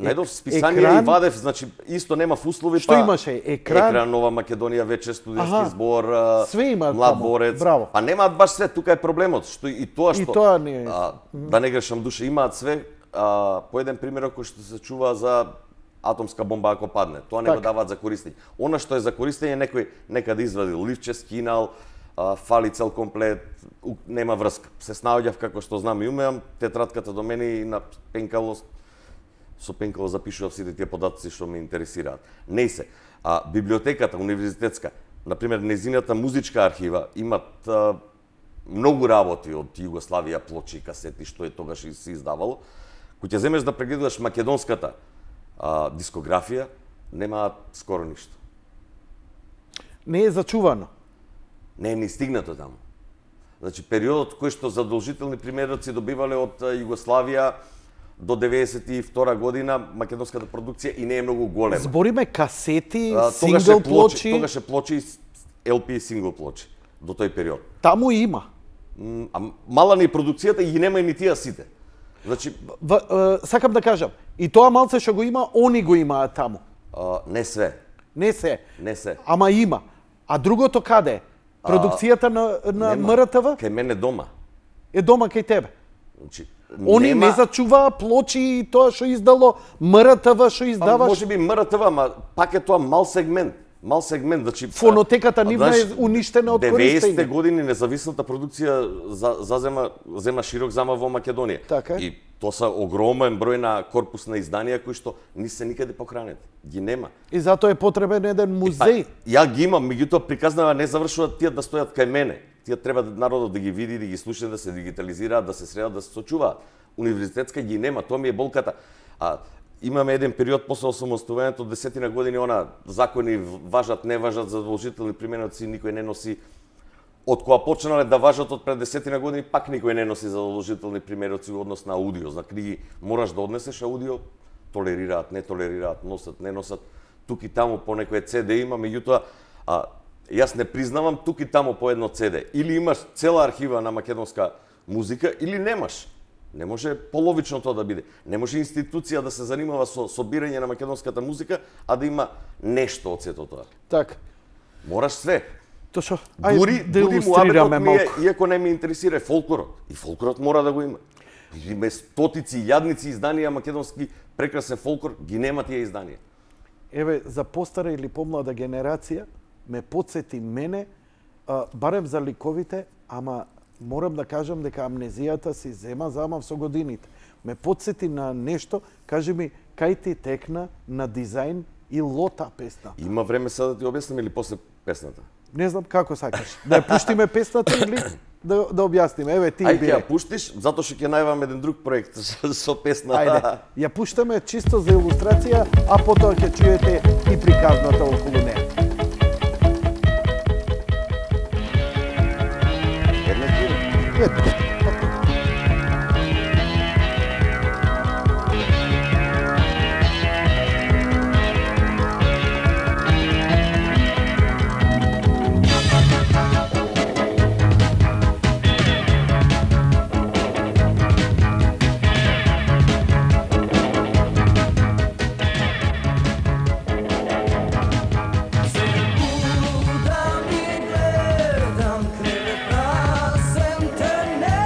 Најдов списанија и вадев, значи исто нема услови, Што имаше? Екран, Нова Македонија, вече студентски збор, све има млад таму. борец. Браво. Па немаат баш све, тука е проблемот, што и тоа што И тоа не е. да не грешам душа, имаат све, по еден пример кој што се чува за атомска бомба ако падне. Тоа не го даваат за користење. Она што е за користење некој некаде извадил ливче, скинал, фали цел комплет, нема врска. Се снаоѓав како што знам и умеам, тетратката до мене и на пенкало со пенкало запишував сите тие податоци што ме интересираат. Не се. Библиотеката универзитетска, на пример незината музичка архива имат многу работи од Југославија, плочи, касети што е тогаш и се издавало. Кој ќе земеш да прегледаш македонската дискографија, немаат скоро ништо. Не е зачувано. Не е ни стигнато таму. Значи, периодот кој што задолжителни примероци добивале од Југославија до 92 година, македонската продукција и не е многу голема. Збориме касети, сингл плочи. Тогаш е плочи, LP и сингл плочи, до тој период. Таму има. Мала ни продукцијата и ги нема и ни тие сите. Значи, сакам да кажам, и тоа малце што го има, они го имаат таму. Не све. Не се. Не се. Ама има. А другото каде е? Продукцијата на МРТВ? Кај мене дома. Е дома кај тебе. Значи, они не зачуваа плочи и тоа што издало МРТВ, што издаваш. Може би МРТВ, ама пак е тоа мал сегмент. Мал сегмент, значи фонотеката нивна е уништена од користење. 90-те години независната продукција зема широк замав во Македонија. Така. И тоа са огромен број на корпусна изданија кои што не се никаде похранети. Ги нема. И затоа е потребен еден музеј. Ја ги имам, меѓутоа приказнава не завршуваат тие да стојат кај мене. Тие треба народот да ги види, да ги слуша, да се дигитализираат, да се средат, да се сочуваат. Универзитетска ги нема, тоа ми е болката. Имаме еден период после осамостојувањето, 10 години, закони важат, не важат, задолжителни применоци, никој не носи. Од кога почнале да важат од пред 10 години, пак никој не носи задолжителни примероци во однос на аудио. За книги мораш да однесеш аудио, толерираат, не толерираат, носат, не носат. Тук и таму по некој CD има, меѓутоа јас не признавам тук и таму по едно CD. Или имаш цела архива на македонска музика, или немаш. Не може половично тоа да биде. Не може институција да се занимава со собирање на македонската музика, а да има нешто од сето тоа. Така. Мораш све. Тоа дури муабетот ми е, иако не ми интересира фолклорот. И фолклорот мора да го има. Има стотици, јадници изданија македонски прекрасен фолклор, ги нема тие изданија. Еве, за постара или помлада генерација, ме потсети мене, барем за ликовите, ама морам да кажам дека амнезијата си зема замав со годините. Ме потсети на нешто, кажи ми, кај ти текна на дизајн и лота песна? Има време сега да ти објаснам или после песната? Не знам како сакаш. Да ја пуштиме песната или да објасниме? Еве, ти бире. Ајде ја пуштиш, затоа што ќе најавам еден друг проект со песна. Ајде, ја пуштаме чисто за илустрација, а потоа ќе чуете и приказната околу неа. Ето. Gledam kreve prasen te ne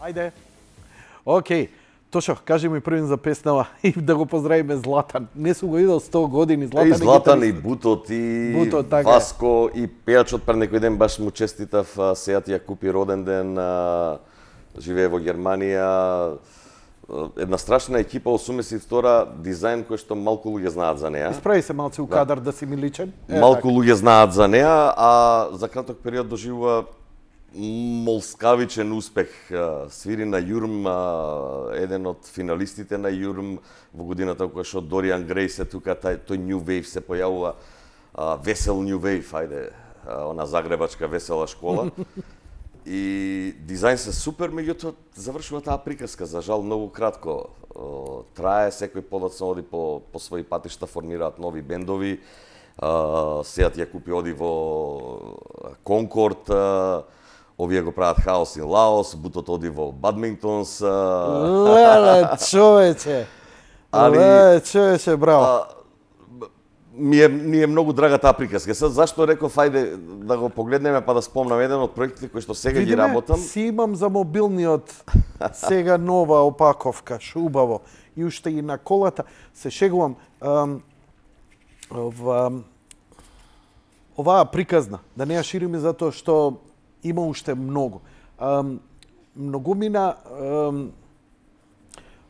Ајде. Океј. Тошо, кажи ми првин за песнава и да го поздравиме Златан. Не су го видел 100 години. Златан, и Златан, и Бутот, и Васко, и пејачот пред некој ден баш му честитав, сеја ја купи роден ден, живее во Германија. Една страшна екипа, 82 дизајн кој што малку луѓе знаат за неа. Исправи се малце у кадар да си ми личен. Малку луѓе знаат за неа, а за краток период доживува молскавичен успех. Свири на Јурм, еден од финалистите на Јурм во годината кога што Дориан Грей се тука, тој New Wave се појавува, весел New Wave, ајде, она загребачка весела школа. И дизајн се супер, меѓутоа завршува таа приказка, за жал многу кратко. Трае, секој подоцна оди по своји патишта, формираат нови бендови. Сејат ја купи оди во Конкорд, овие го прават Хаос и Лаос, Бутот оди во Бадминтонс. Леле, човече! Леле, човече, браво! Ми е многу драга таа приказка. Сега зашто реков ајде да го погледнеме па да спомнам еден од проектите кои што сега ги работам. Си имам за мобилниот сега нова опаковка, шубаво. И уште и на колата се шегувам. Оваа приказна, да не ја шириме затоа што има уште многу. Многумина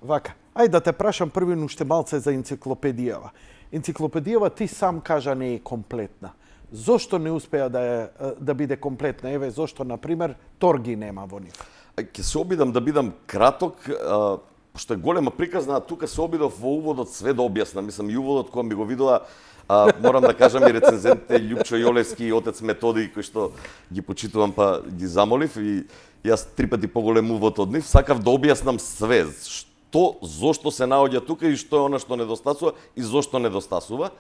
вака. Ајде да те прашам првин уште малце за енциклопедијава. Енциклопедијава ти сам кажа не е комплетна. Зошто не успеа да биде комплетна? Еве зошто на пример Торги нема во нив. Ќе се обидам да бидам краток, пошто е голема приказна, тука се обидов во уводот све да објаснам. Мислам и уводот кога ми го видела, морам да кажам и рецензентите Љупчо Јолевски и отец Методи кои што ги почитувам па ги замолив и јас 3 пати поголем увод од нив, сакав да објаснам све. Зошто се наоѓа тука и што е она што недостасува и зошто недостасува.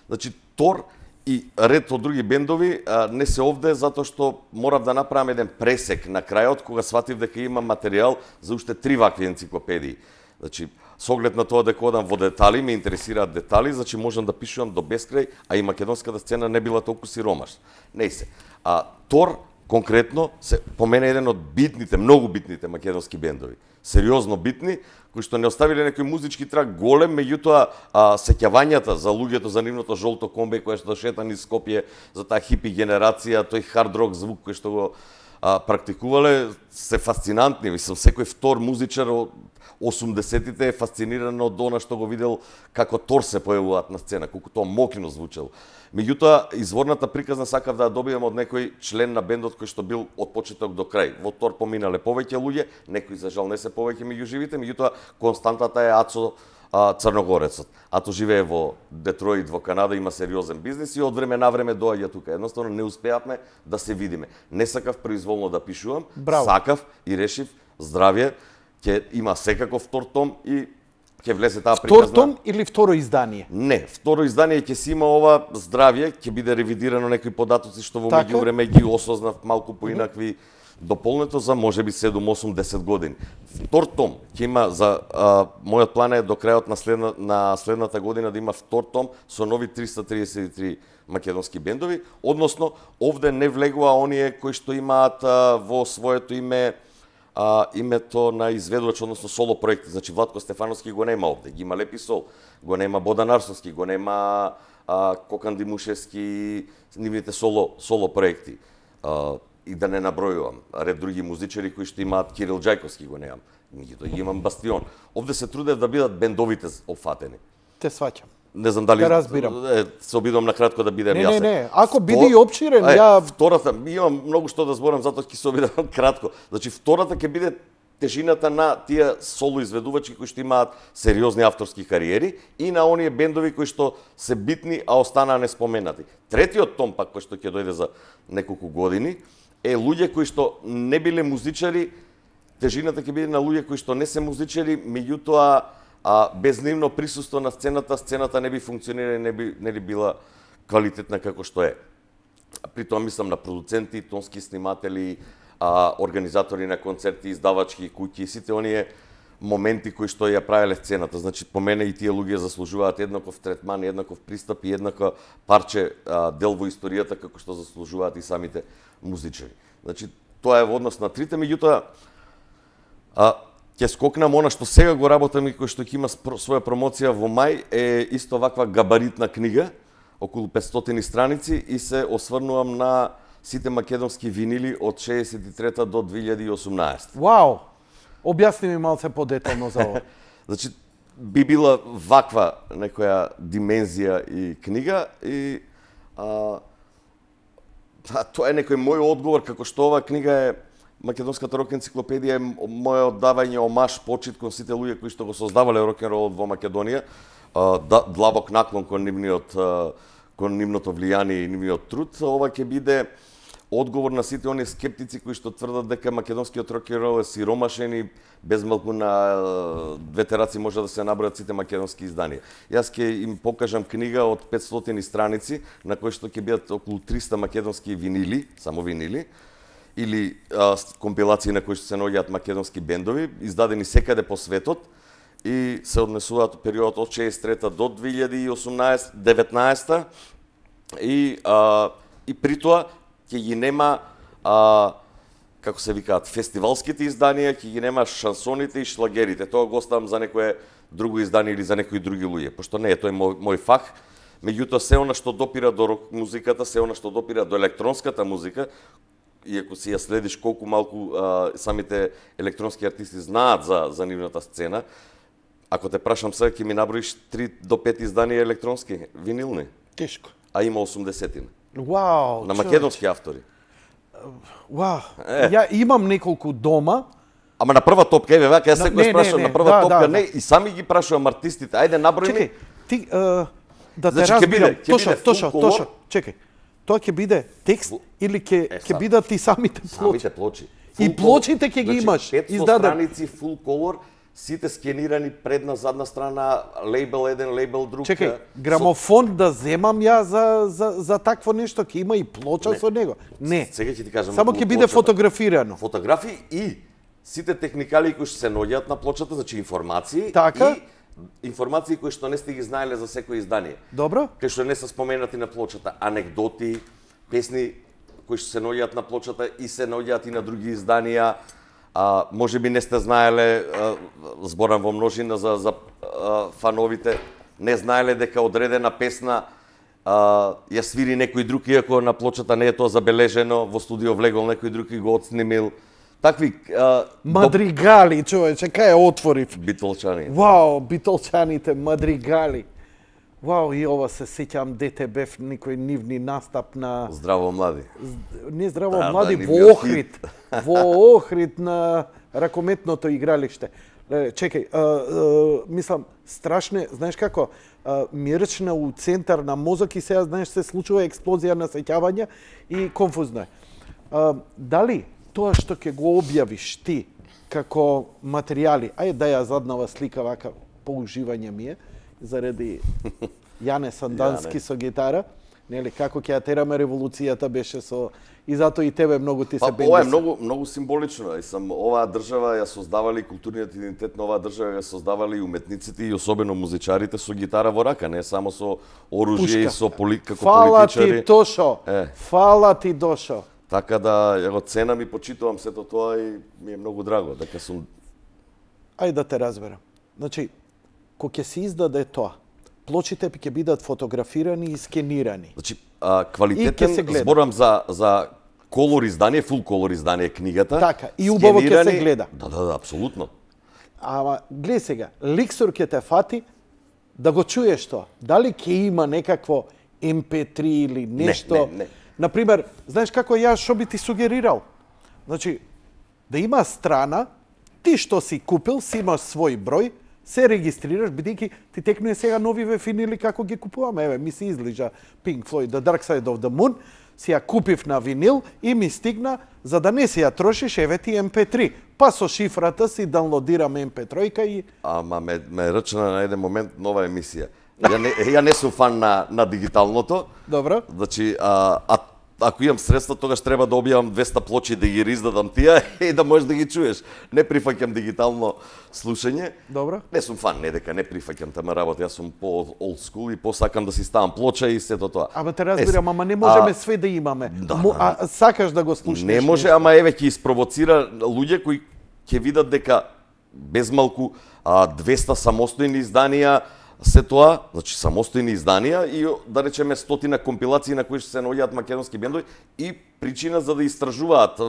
Значи, Тор и ред од други бендови не се овде затоа што морав да направам еден пресек на крајот кога сватив дека има материјал за уште 3 вакви енциклопедии. Значи, со оглед на тоа дека одам во детали, ме интересираат детали, значи можам да пишувам до бескрај, а и македонската сцена не била толку сиромаш. Не се. Тор конкретно се по мене еден од битните, многу битните македонски бендови. Сериозно битни, кои што не оставиле некој музички трак голем, меѓутоа сеќавањата за луѓето за нивното жолто комбе кое што шета низ Скопје, за таа хипи генерација, тој хард рок звук кој што го практикувале, се фасцинантни. Мислам, секој втор музичар од 80-тите е фасциниран од она што го видел како Тор се појавуваат на сцена, колку тоа мокрино звучело. Меѓутоа, изворната приказна сакав да ја добијам од некој член на бендот кој што бил од почеток до крај. Во Тор поминале повеќе луѓе, некои за жал не се повеќе меѓу живите, меѓутоа константата е Ацо Црногорецот. Ато живее во Детройт, во Канада, има сериозен бизнис и од време на време доаѓа тука. Едноставно не успеавме да се видиме. Не сакав произволно да пишувам, сакав и решив здравје, ќе има секако втор том и ќе влезе таа приказна. Втор том или второ издание? Не, второ издание ќе си има ова здравје, ќе биде ревидирано некои податоци што во меѓувреме ги осознав малку поинакви дополнето за можеби 7, 8, 10 години. Втор том ќе има за мојот план е до крајот на следната година да има втор том со нови 333 македонски бендови, односно овде не влегува оние кои што имаат во своето име името на изведувач, односно соло проекти. Значи Владко Стефановски го нема овде, ги има Лепи Сол, го нема Бодан Арсовски, го нема Кокан Димушевски, нивните соло проекти. И да не набројувам ред други музичари кои што имаат Кирил Џајковски го немам. Меѓутоа ги имам Бастион. Овде се трудев да бидат бендовите опфатени. Те сваќам. Не знам дали се обидувам на кратко да бидем јасен. Не, ако биде и опширен, втората имам многу што да зборам, затоа ќе се обидам кратко. Значи втората ќе биде тежината на тие соло изведувачи кои што имаат сериозни авторски кариери и на оние бендови кои што се битни, а останаа неспоменати. Третиот том пак кој што ќе дојде за неколку години е луѓе кои што не биле музичари, тежината ќе биде на луѓе кои што не се музичари, меѓутоа без нивно присуство на сцената не би функционирала, не би била квалитетна како што е. При тоа мислам на продуценти, тонски сниматели, организатори на концерти, издавачки куќи, сите оние моменти кои што ја правеле сцената. Значи, по мене и тие луѓе заслужуваат еднаков третман, еднаков пристап и еднакво парче дел во историјата како што заслужуваат и самите музичари. Значи, тоа е во однос на трите, меѓутоа Ќе скокнам она што сега го работам и кој што ќе има своја промоција во мај, е исто ваква габаритна книга, околу 500 страници, и се осврнувам на сите македонски винили од 63 до 2018. Вау! Објасни ми малце подетално за ова. Значи, би била ваква некоја димензија и книга, и тоа е некој мој одговор, како што оваа книга е Македонската рок енциклопедија, е моје оддавање омаш, почит кон сите луѓе кои што го создавале рок-н-ролот во Македонија, длабок наклон кон нивното влијание и нивниот труд. Ова ќе биде одговор на сите оние скептици кои што тврдат дека македонскиот рок-н-рол е сиромашен и безмалку на двете раци може да се набројат сите македонски изданија. Јас ќе им покажам книга од 500 страници на кои што ќе бидат околу 300 македонски винили, само винили, или компилации на кои што се наоѓаат македонски бендови, издадени секаде по светот, и се однесуваат периодот од 63 до 2018-19, и при тоа ќе ги нема, како се викаат, фестивалските изданија, ќе ги нема шансоните и шлагерите. Тоа го оставам за некое друго издание или за некои други луѓе, пошто не е тој мој фах. Меѓутоа, се она што допира до рок музиката, се она што допира до електронската музика, иако си ја следиш колку малку самите електронски артисти знаат за нивната сцена, ако те прашам сега, ќе ми наброиш 3 до 5 изданија електронски, винилни. Тешко. А има 80. Вау! На македонски автори. Вау! Ја имам неколку дома. Ама на прва топка, еве, вака, јас секојаш прашувам на прва топка, не, и сами ги прашувам артистите, ајде наброј ми. Чекај, ти, да те разбирам, Тошо, чекај. Тоа ќе биде текст или ќе бидат и самите плочи? Самите плочи. И плочите ќе ги имаш издадени. 500 страници full color, сите скенирани предна, задна страна, лейбел еден, лейбел друг. Чекај, грамофон да земам ја за такво нешто, ќе има и плоча со него? Не. Сега ќе ти кажам. Само ќе биде фотографирано. Фотографии и сите техникали кои што се наоѓаат на плочата, значи информации, така? И информации кои што не сте ги знаеле за секој издание. Добро. Кои што не се споменати на плочата, анегдоти, песни кои што се наоѓаат на плочата и се наоѓаат и на други изданија. Може би не сте знаеле, зборам во множина за фановите, не знаеле дека одредена песна ја свири некој друг, иако на плочата не е тоа забележено, во студио влегол некој друг и го отснимил. Такви мадригали, човече, кај отворив. Битолчани. Вау, битолчаните, мадригали. Вау, и ова се сеќам дете бев некој нивни настап на Здраво млади. Не здраво млади, во Охрид. Во Охрид на ракометното игралиште. Чекај, мислам, страшне, знаеш како, мирчна у центар на мозок и сега, знаеш, се случува експлозија на сеќавања и конфузно е. Дали тоа што ќе го објавиш ти како материјали, ајде да ја заднава слика вака, по уживање ми е, заради Јане Сандански со гитара, нели, како ќе ја тераме револуцијата беше со... И затоа и тебе многу ти се бенди. Ова е многу символично. Оваа држава ја создавали, културниот идентитет на оваа држава ја создавали и уметниците и особено музичарите со гитара во рака, не само со оружје и со како Фала политичари. ти, Тошо. Фала ти, Дошо. Така да ја го ценам и почитувам сето тоа и ми е многу драго дека сум... Ајде да те разберам. Значи, кога ќе се издаде тоа, плочите ќе бидат фотографирани и скенирани. Значи, квалитетен, зборам за колор издание, фул колор издание книгата. Така, и убаво ќе се гледа. Да, апсолутно. Ама, гледај сега, ликсор ќе те фати да го чуеш тоа. Дали ќе има некакво MP3 или нешто? Не. Например, знаеш како јас што би ти сугерирал? Значи, да има страна, ти што си купил, си имаш свој број, се регистрираш, бидејќи ти текнуе сега новиве винили како ги купуваме. Еве, ми се излижа Pink Floyd, The Dark Side of the Moon, си ја купив на винил и ми стигна, за да не си ја трошиш, еве ти MP3. Па со шифрата си даунлодирам MP3 и... Ама ме рачна на еден момент нова емисија. Ја не сум фан на дигиталното. Добро. Значи, ако имам средства, тогаш треба да објавам 200 плочи да ги издадам тие и да можеш да ги чуеш. Не прифаќам дигитално слушање. Добро. Не сум фан, не дека не прифаќам тама работа, јас сум по old school и посакам да си ставам плоча и сето тоа. Ама те разбирам, ама не можеме све да имаме. Сакаш да го слушнеш. Не може, ама еве ќе испровоцира луѓе кои ќе видат дека без малку 200 самостојни изданија се тоа, значи самостојни изданија и да речеме стотина компилации на кои се наоѓаат македонски бендови и причина за да истражуваат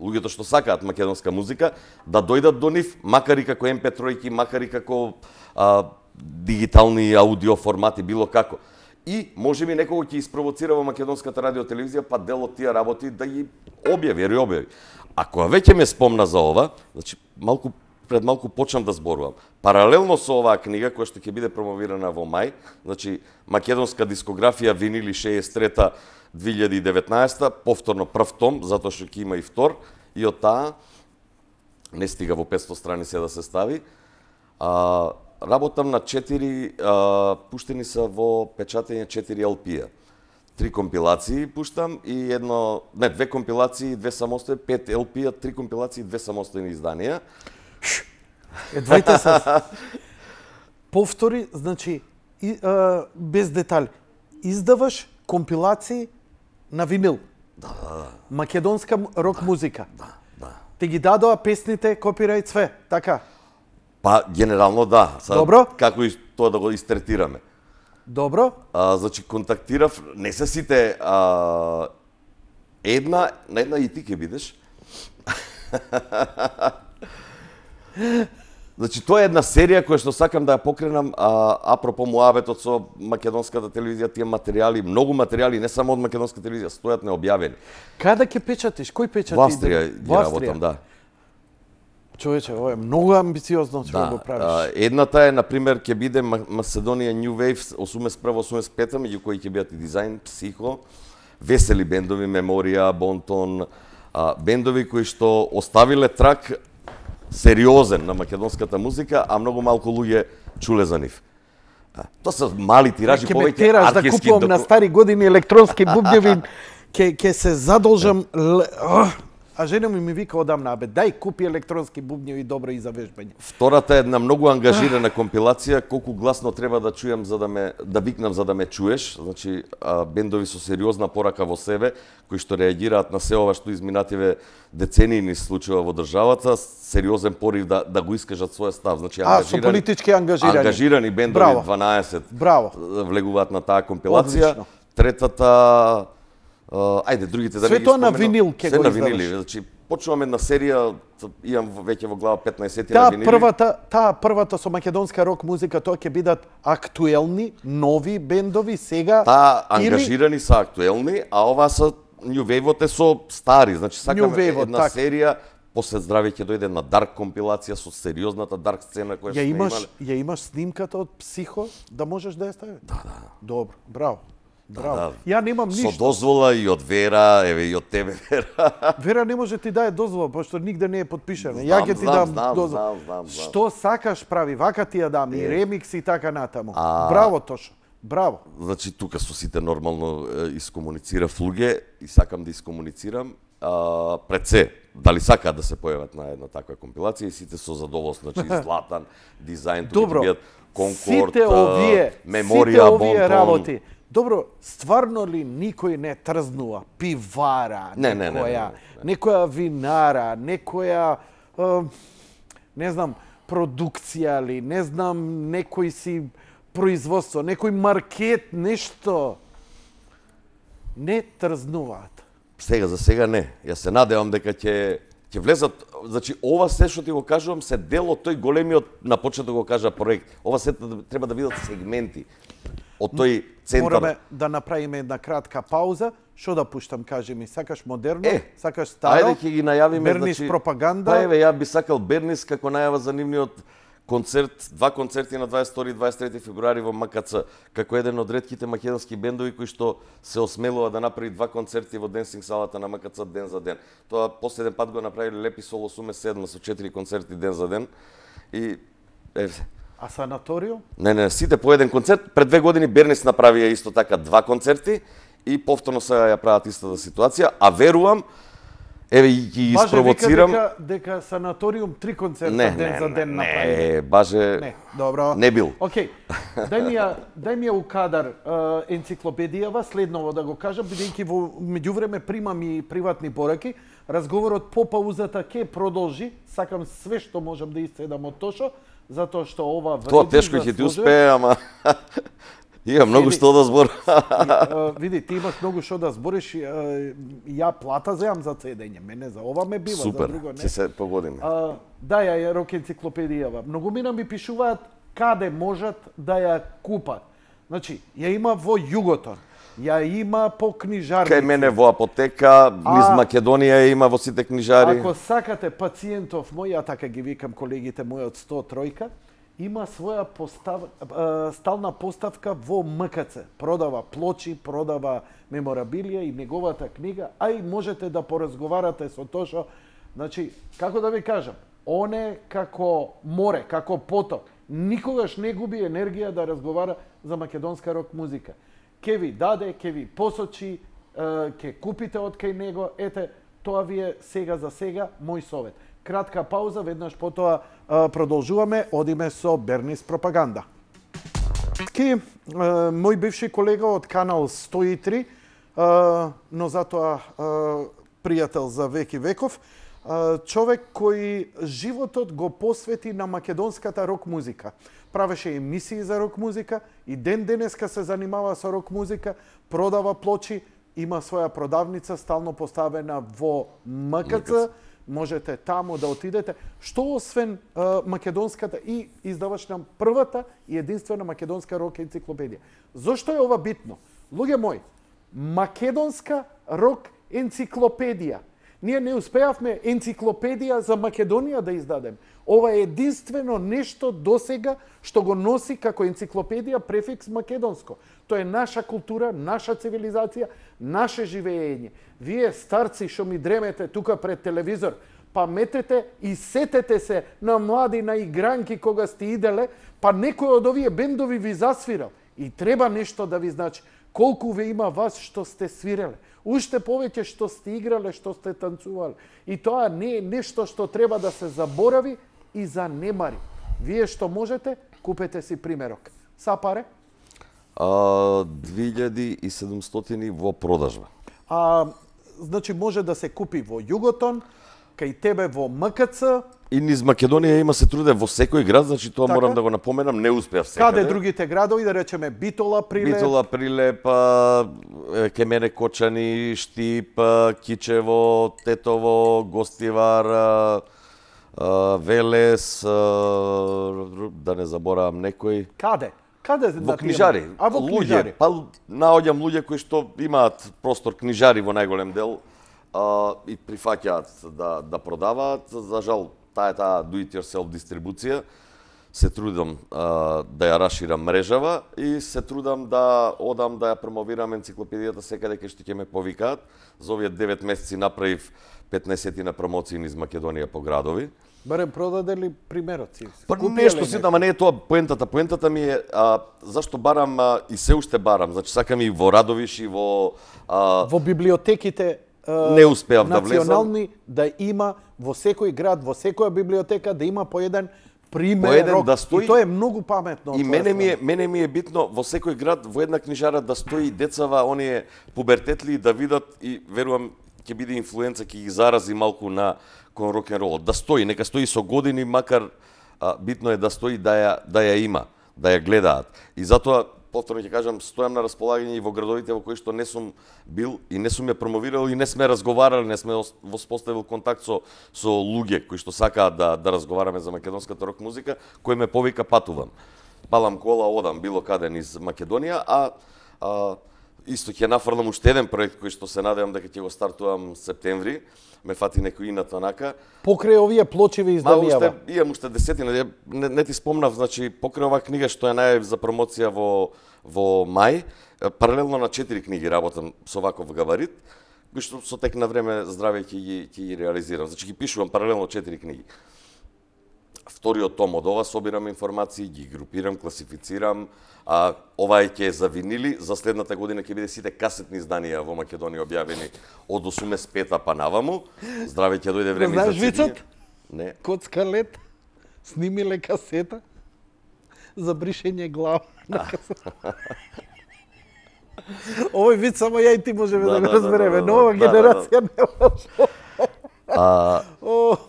луѓето што сакаат македонска музика да дојдат до нив, макар и како MP3-ки, макар и како дигитални аудио формати, било како. И можеби некого ќе испровоцира во македонската радио телевизија па дел од тие работи да ги објави. Ако веќе ме спомна за ова, значи пред малку почнам да зборувам. Паралелно со оваа книга која што ќе биде промовирана во мај, значи македонска дискографија винили 63-2019, повторно прв том, затоа што ќе има и втор, и од таа не стига во 500 страници да се стави. Работам на 4, пуштени са во печатење 4 LP-а. 3 компилации пуштам и 2 компилации, 2 самостојни, 5 LP-а, 3 компилации, 2 самостојни изданија. Двајте се. Повтори, значи, без детали. Издаваш компилации на винил. Да. Македонска рок музика. Да. Те ги дадоа песните, копирајт све, така? Па, генерално да. Добро. Како и тоа да го истретираме. Добро. Значи, контактирав, не се сите, на една и ти ќе бидеш. Значи, тоа е една серија која што сакам да ја покренам, апропо муабетот со македонската телевизија, тие материјали, многу материјали, не само од македонска телевизија, стојат необјавени. Каде ќе печатиш? Кој печати? Во Австрија ги работам, да. Човече, ова е многу амбициозно што го правиш. Едната е, например, ќе биде Macedonian New Wave 81-85, меѓу кои ќе бидат и Дизайн, Психо, весели бендови, Меморија, Бонтон, бендови кои што оставиле трак сериозен на македонската музика, а многу малку луѓе чуле за нив. Тоа се мали тиражи, повеќе артиски. Ќе ме тераш да купувам на стари години електронски бубњеви, ќе се задолжам. А жена ми вика одамна, дај купи електронски бубњеви добро и за вежбање. Втората е една многу ангажирана компилација, колку гласно треба да чујам да викнам за да ме чуеш, значи бендови со сериозна порака во себе, кои што реагираат на се ова што изминативе децении ни случува во државата, сериозен порив да го искажат својот став, значи со политички ангажирани бендови 12 влегуваат на таа компилација. Одлично. Третата другите да не ги споменам. Све тоа на винил ќе го издаваш. Значи, почнувам една серија, имам веќе во глава 15 на винили. Таа првата со македонска рок музика, тоа ќе бидат актуелни, нови бендови сега? Таа ангажирани са актуелни, а ова са New Wave-от е со стари. Значи, сакам една серија, после здраве ќе дојде една дарк компилација со сериозната дарк сцена која што имале. Ја имаш снимката од Психо, да можеш да ја ставиш? Да. Добро, браво. Ја немам ништо. Со дозвола и од Вера, еве и од тебе, Вера. Вера не може ти даде дозвола, пошто нигде не е подпишена. Ја ќе ти дам дозвола. Што сакаш прави, вака ти ја дам, и ремикс и така натаму. Браво, Тошо. Браво. Значи, тука со сите нормално искомуницирав луѓе и сакам да искомуницирам. Пред се, дали сакаат да се појават на една таква компилација и сите со задоволство, значи Златан, Дизайн, тука ќе бидат Конкорд, Меморија, Бонтон. Добро, стварно ли никој не трзнува пивара, некоја винара, некоја, не знам, продукција ли, не знам, некој си производство, некој маркет, нешто, не трзнуваат? За сега не. Јас се надевам дека ќе влезат, значи ова се што ти го кажувам се дел од тој големиот, на почеток го кажа, проект. Ова се треба да бидат сегменти од тој центар. Мораме да направиме една кратка пауза. Што да пуштам, кажи ми, сакаш модерно, сакаш старо? Ајде ќе ги најавиме, Бернис пропаганда. Па еве, ја би сакал Бернис како најава за нивниот концерт, 2 концерти на 22 и 23 февруари во МКЦ, како еден од ретките македонски бендови кои што се осмелува да направи 2 концерти во денсинг салата на МКЦ ден за ден. Тоа последен пат го направиле Лепи Соло Суме 7 со 4 концерти ден за ден. И А санаториум? Не, сите по еден концерт. Пред 2 години Бернис направија исто така 2 концерти и повторно сега ја прават истата ситуација, а верувам Еве и ги испровоцирам. Баже вика дека санаториум 3 концерта ден за ден направи. Не, баже. Не, добро. Не бил. Океј. Дај ми ја у кадар енциклопедијава, следново да го кажам, бидејќи во меѓувреме примам и приватни пораки. Разговорот по паузата ќе продолжи. Сакам све што можам да исцедам од Тошо, затоа што ова вреди. Тоа тешко ќе ти успее, ама има многу што да зборам. Види, ти имаш многу што да збориш. Ја плата земам за цедење. Мене за ова ме бива, супер, за друго не. Ќе се погодиме. Да, ја рок енциклопедијава. Многумина ми пишуваат каде можат да ја купат. Значи, ја има во Југотон. Ја има по книжарници. Кај мене во апотека, низ Македонија има во сите книжари. Ако сакате пациентов мој, ја така ги викам колегите мои од 103-ка, има своја стална поставка во МКЦ. Продава плочи, продава меморабилија и неговата книга, а и можете да поразговарате со Тошо. Значи, како да ви кажам, он е како море, како поток. Никогаш не губи енергија да разговара за македонска рок музика. Ке ви даде, ке ви посочи, ке купите од кај него. Ете, тоа ви е сега за сега мој совет. Кратка пауза, веднаш потоа продолжуваме, одиме со Бернис пропаганда. Мој бивши колега од Канал 103, но затоа пријател за веки веков, човек кој животот го посвети на македонската рок музика. Правеше емисии за рок музика и ден денеска се занимава со рок музика, продава плочи, има своја продавница стално поставена во МКЦ. Можете таму да отидете. Што освен македонската и издавач на првата и единствена македонска рок енциклопедија. Зошто е ова битно? Луѓе мои, македонска рок енциклопедија. Ние не успеавме енциклопедија за Македонија да издадем. Ова е единствено нешто досега што го носи како енциклопедија префикс македонско. Тоа е наша култура, наша цивилизација, наше живење. Вие старци што ми дремете тука пред телевизор, паметете и сетете се на млади, на игранки кога сте иделе, па некој од овие бендови ви засвирал. И треба нешто да ви значи. Колку ве има вас што сте свиреле. Уште повеќе што сте играле, што сте танцувале. И тоа не е нешто што треба да се заборави и занемари. Вие што можете, купете си примерок. Са паре? 2700 во продажба. Значи може да се купи во Југотон, кај тебе во МКЦ. И низ Македонија има се труде во секој град, значи тоа така? Морам да го напоменам, не успеав секаде. Каде другите градови, да речеме Битола, Прилеп? Битола, Прилеп, ке мене Кочани, Штип, Кичево, Тетово, Гостивар, Велес, да не заборавам некој. Каде? Каде во книжари. Во книжари. Па наоѓам луѓе кои што имаат простор книжари во најголем дел и прифаќаат да продаваат. За жал, таа do it yourself дистрибуција се трудам да ја расширам мрежава и се трудам да одам да ја промовирам енциклопедијата секаде кај што ќе ме повикаат. За овие 9 месеци направив 15 на промоции низ Македонија по градови. Барем продаде ли примероци? Па нешто си, ама не е тоа поентата. Поентата ми е зашто барам и се уште барам. Значи сакам и во Радовиш и во библиотеките не успеав да влезам. Национални да има во секој град, во секоја библиотека да има по еден примерок. Да стои, и тоа е многу паметно. И мене ми е битно во секој град, во една книжара да стои децава, оние пубертетли да видат и верувам ќе биде инфлуенца, ќе ги зарази малку на кон рок-н-ролот. Да стои, нека стои со години, макар битно е да стои да ја има, да ја гледаат. И затоа повторно ќе кажам, стојам на располагање и во градовите во кои што не сум бил и не сум ја промовирал и не сме разговарале, не сме воспоставил контакт со луѓе кои што сакаат да разговараме за македонската рок музика, кој ме повика патувам. Палам кола, одам било каде низ Македонија, исто ќе нафрлам уште еден проект кој што се надевам дека ќе го стартувам септември. Ме фати некој инат онака. Покрај овие плочеви изданија. Имам уште десетина, не ти спомнав, значи покрај оваа книга што ја најавив за промоција во мај, паралелно на 4 книги работам со ваков габарит, кои што со тек на време здраве ќе ги реализирам. Значи ги пишувам паралелно 4 книги. вториот том од ова, собирам информации, ги групирам, класифицирам. Ова ќе е за винили, за следната година ќе биде сите касетни изданија во Македонија објавени од 85-та па наваму. Здраве, ќе дојде време знаеш за CD. вицот? Не. Коцка лет, снимиле касета за бришење глава на касета. Овој виц само ја и ти можеме да го разбереме. Нова генерација не може.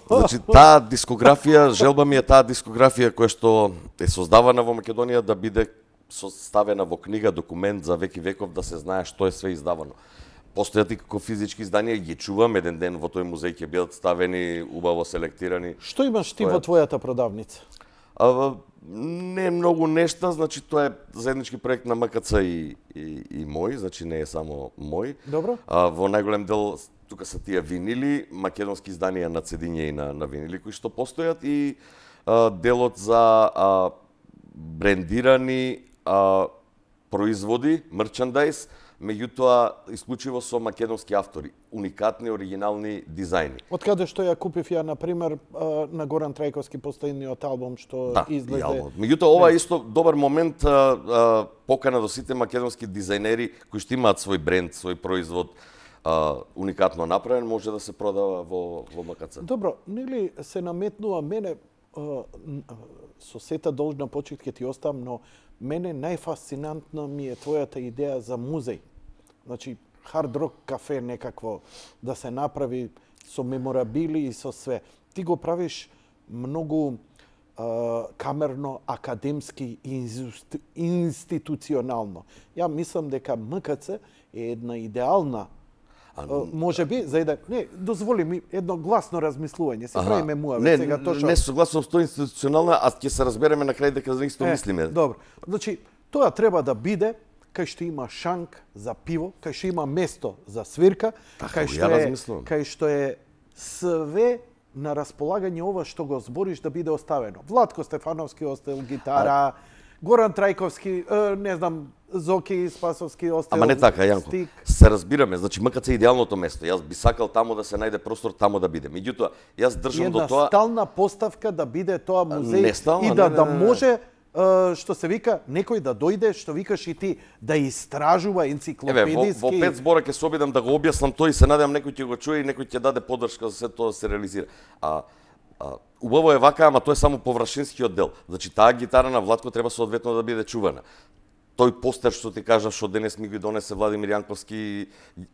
Значи, таа дискографија, желба ми е таа дискографија која што е создавана во Македонија да биде составена во книга, документ за веки веков, да се знае што е све издавано. Постојат и како физички изданија, ги чувам, еден ден во тој музеј ќе бидат ставени, убаво селектирани. Што имаш ти во твојата продавница? Не многу нешта, значи тоа е заеднички проект на МКЦ и мој, значи не е само мој. Добро. Во најголем дел тука се тие винили, македонски изданија на цедиња и на винили кои што постојат и делот за брендирани производи, мерчандајз, меѓутоа исклучиво со македонски автори, уникатни, оригинални дизајни. Од каде што ја купив ја, на пример, на Горан Трајковски последниот албум што излезе. Да, меѓутоа ова е исто добар момент, покана до сите македонски дизајнери кои што имаат свој бренд, свој производ, уникатно направен, може да се продава во МКЦ. Добро, нели се наметнува мене, со сета должна почит ќе ти оставам, но мене најфасцинантна ми е твојата идеја за музеј. Значи, хард рок кафе некакво да се направи со меморабили и со све. Ти го правиш многу камерно, академски и институционално. Ја мислам дека МКЦ е една идеална може би за еден дозволи ми едно гласно размислување, се правиме муавет сега точно. Не согласно со институционална, а ќе се разбереме на крај дека за исто мислиме. Добро. Значи, тоа треба да биде кај што има шанк за пиво, кај што има место за свирка, кај што е све на располагање ова што го збориш да биде оставено. Владко Стефановски остел гитара, Горан Трајковски, не знам, Зоки Спасовски остел. Ама не така, Јанко. Се разбираме, значи МКЦ е идеалното место. Јас би сакал таму да се најде простор, таму да биде. Меѓутоа, јас држам до тоа. Една стална поставка да биде тоа музеј и да може што се вика некој да дојде, што викаш и ти, да истражува енциклопедиски. Во 5 збора ќе се обидам да го објаснам тој и се надевам некој ќе го чуе и некој ќе даде поддршка за се тоа да се реализира. Убаво е вака, ама тоа е само површинскиот дел. Значи, таа гитара на Владко треба соодветно да биде чувана. Тој постер што ти кажав, што денес ми ги донесе Владимир Јанковски,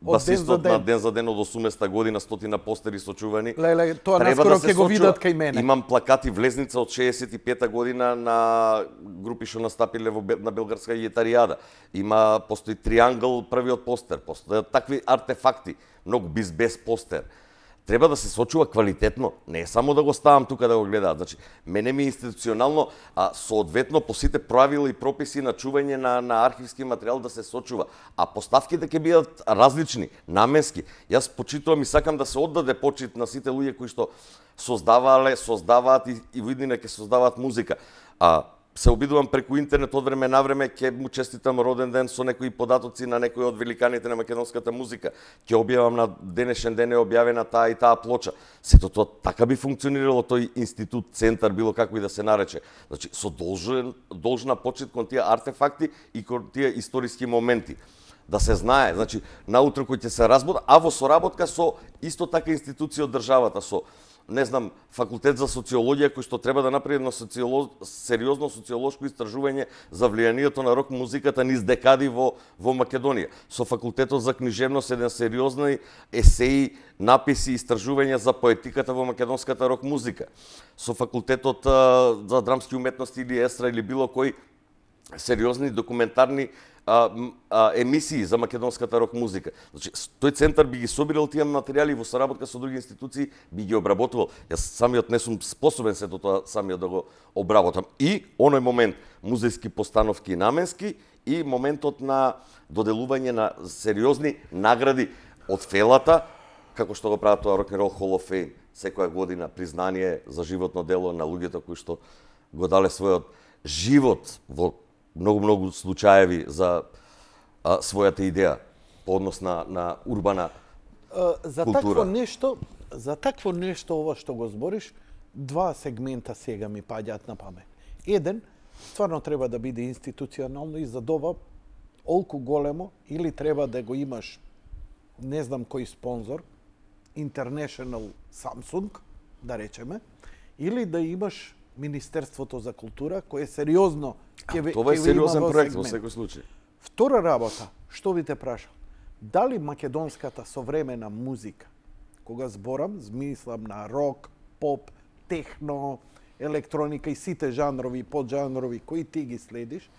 басистот на Ден за ден од 80-та година, 100 постери сочувани. Леле, тоа наскоро ќе го видат кај мене. Имам плакати влезница од 65-та година на групи што настапиле на Белгарска гитаријада. Постои триангл, првиот постер, постојат такви артефакти, многу без постер. Треба да се сочува квалитетно, не е само да го ставам тука да го гледаат. Значи, мене ми институционално, соодветно по сите правила и прописи на чување на архивски материјал да се сочува. А поставките ќе бидат различни, наменски. Јас почитувам и сакам да се оддаде почит на сите луѓе кои што создаваат и во иднина ќе создаваат музика. Се обидувам преку интернет од време на време, ќе му честитам роден ден со некои податоци на некои од великаните на македонската музика. Ќе објавам на денешен ден е објавена таа и таа плоча. Сето тоа така би функционирало тој институт, центар, било како и да се нарече. Значи, со должна почит кон тие артефакти и кон тие историски моменти. Да се знае, значи, наутро кој ќе се разбуда, а во соработка со исто така институција од државата, со не знам, факултет за социологија кој што треба да направи едно сериозно социолошко истражување за влијанието на рок музиката низ декади во Македонија. Со факултетот за книжевност еден сериозни есеи, написи, истражувања за поетиката во македонската рок музика. Со факултетот за драмски уметности или естра или било кој сериозни документарни емисии за македонската рок музика. Значи, тој центар би ги собирал тие материјали во соработка со други институции, би ги обработувал. Јас самиот не сум способен сето тоа самиот да го обработам. И оној момент музејски постановки наменски и моментот на доделување на сериозни награди од фелата, како што го прават тоа Rock and Roll Hall of Fame, секоја година признание за животно дело на луѓето кои што го дале својот живот во многу случаеви за својата идеја по однос на урбана за култура. За такво нешто ова што го збориш, Два сегмента сега ми паѓаат на памет. Еден, стварно треба да биде институционално и за ова олку големо, или треба да го имаш не знам кој спонзор, International Samsung, да речеме, или да имаш Министерството за култура, кое сериозно Тоа е сериозен проект во секој случај. Втора работа, што ви те прашам, дали македонската современа музика, кога зборам, змислам на рок, поп, техно, електроника и сите жанрови и поджанрови кои ти ги следиш,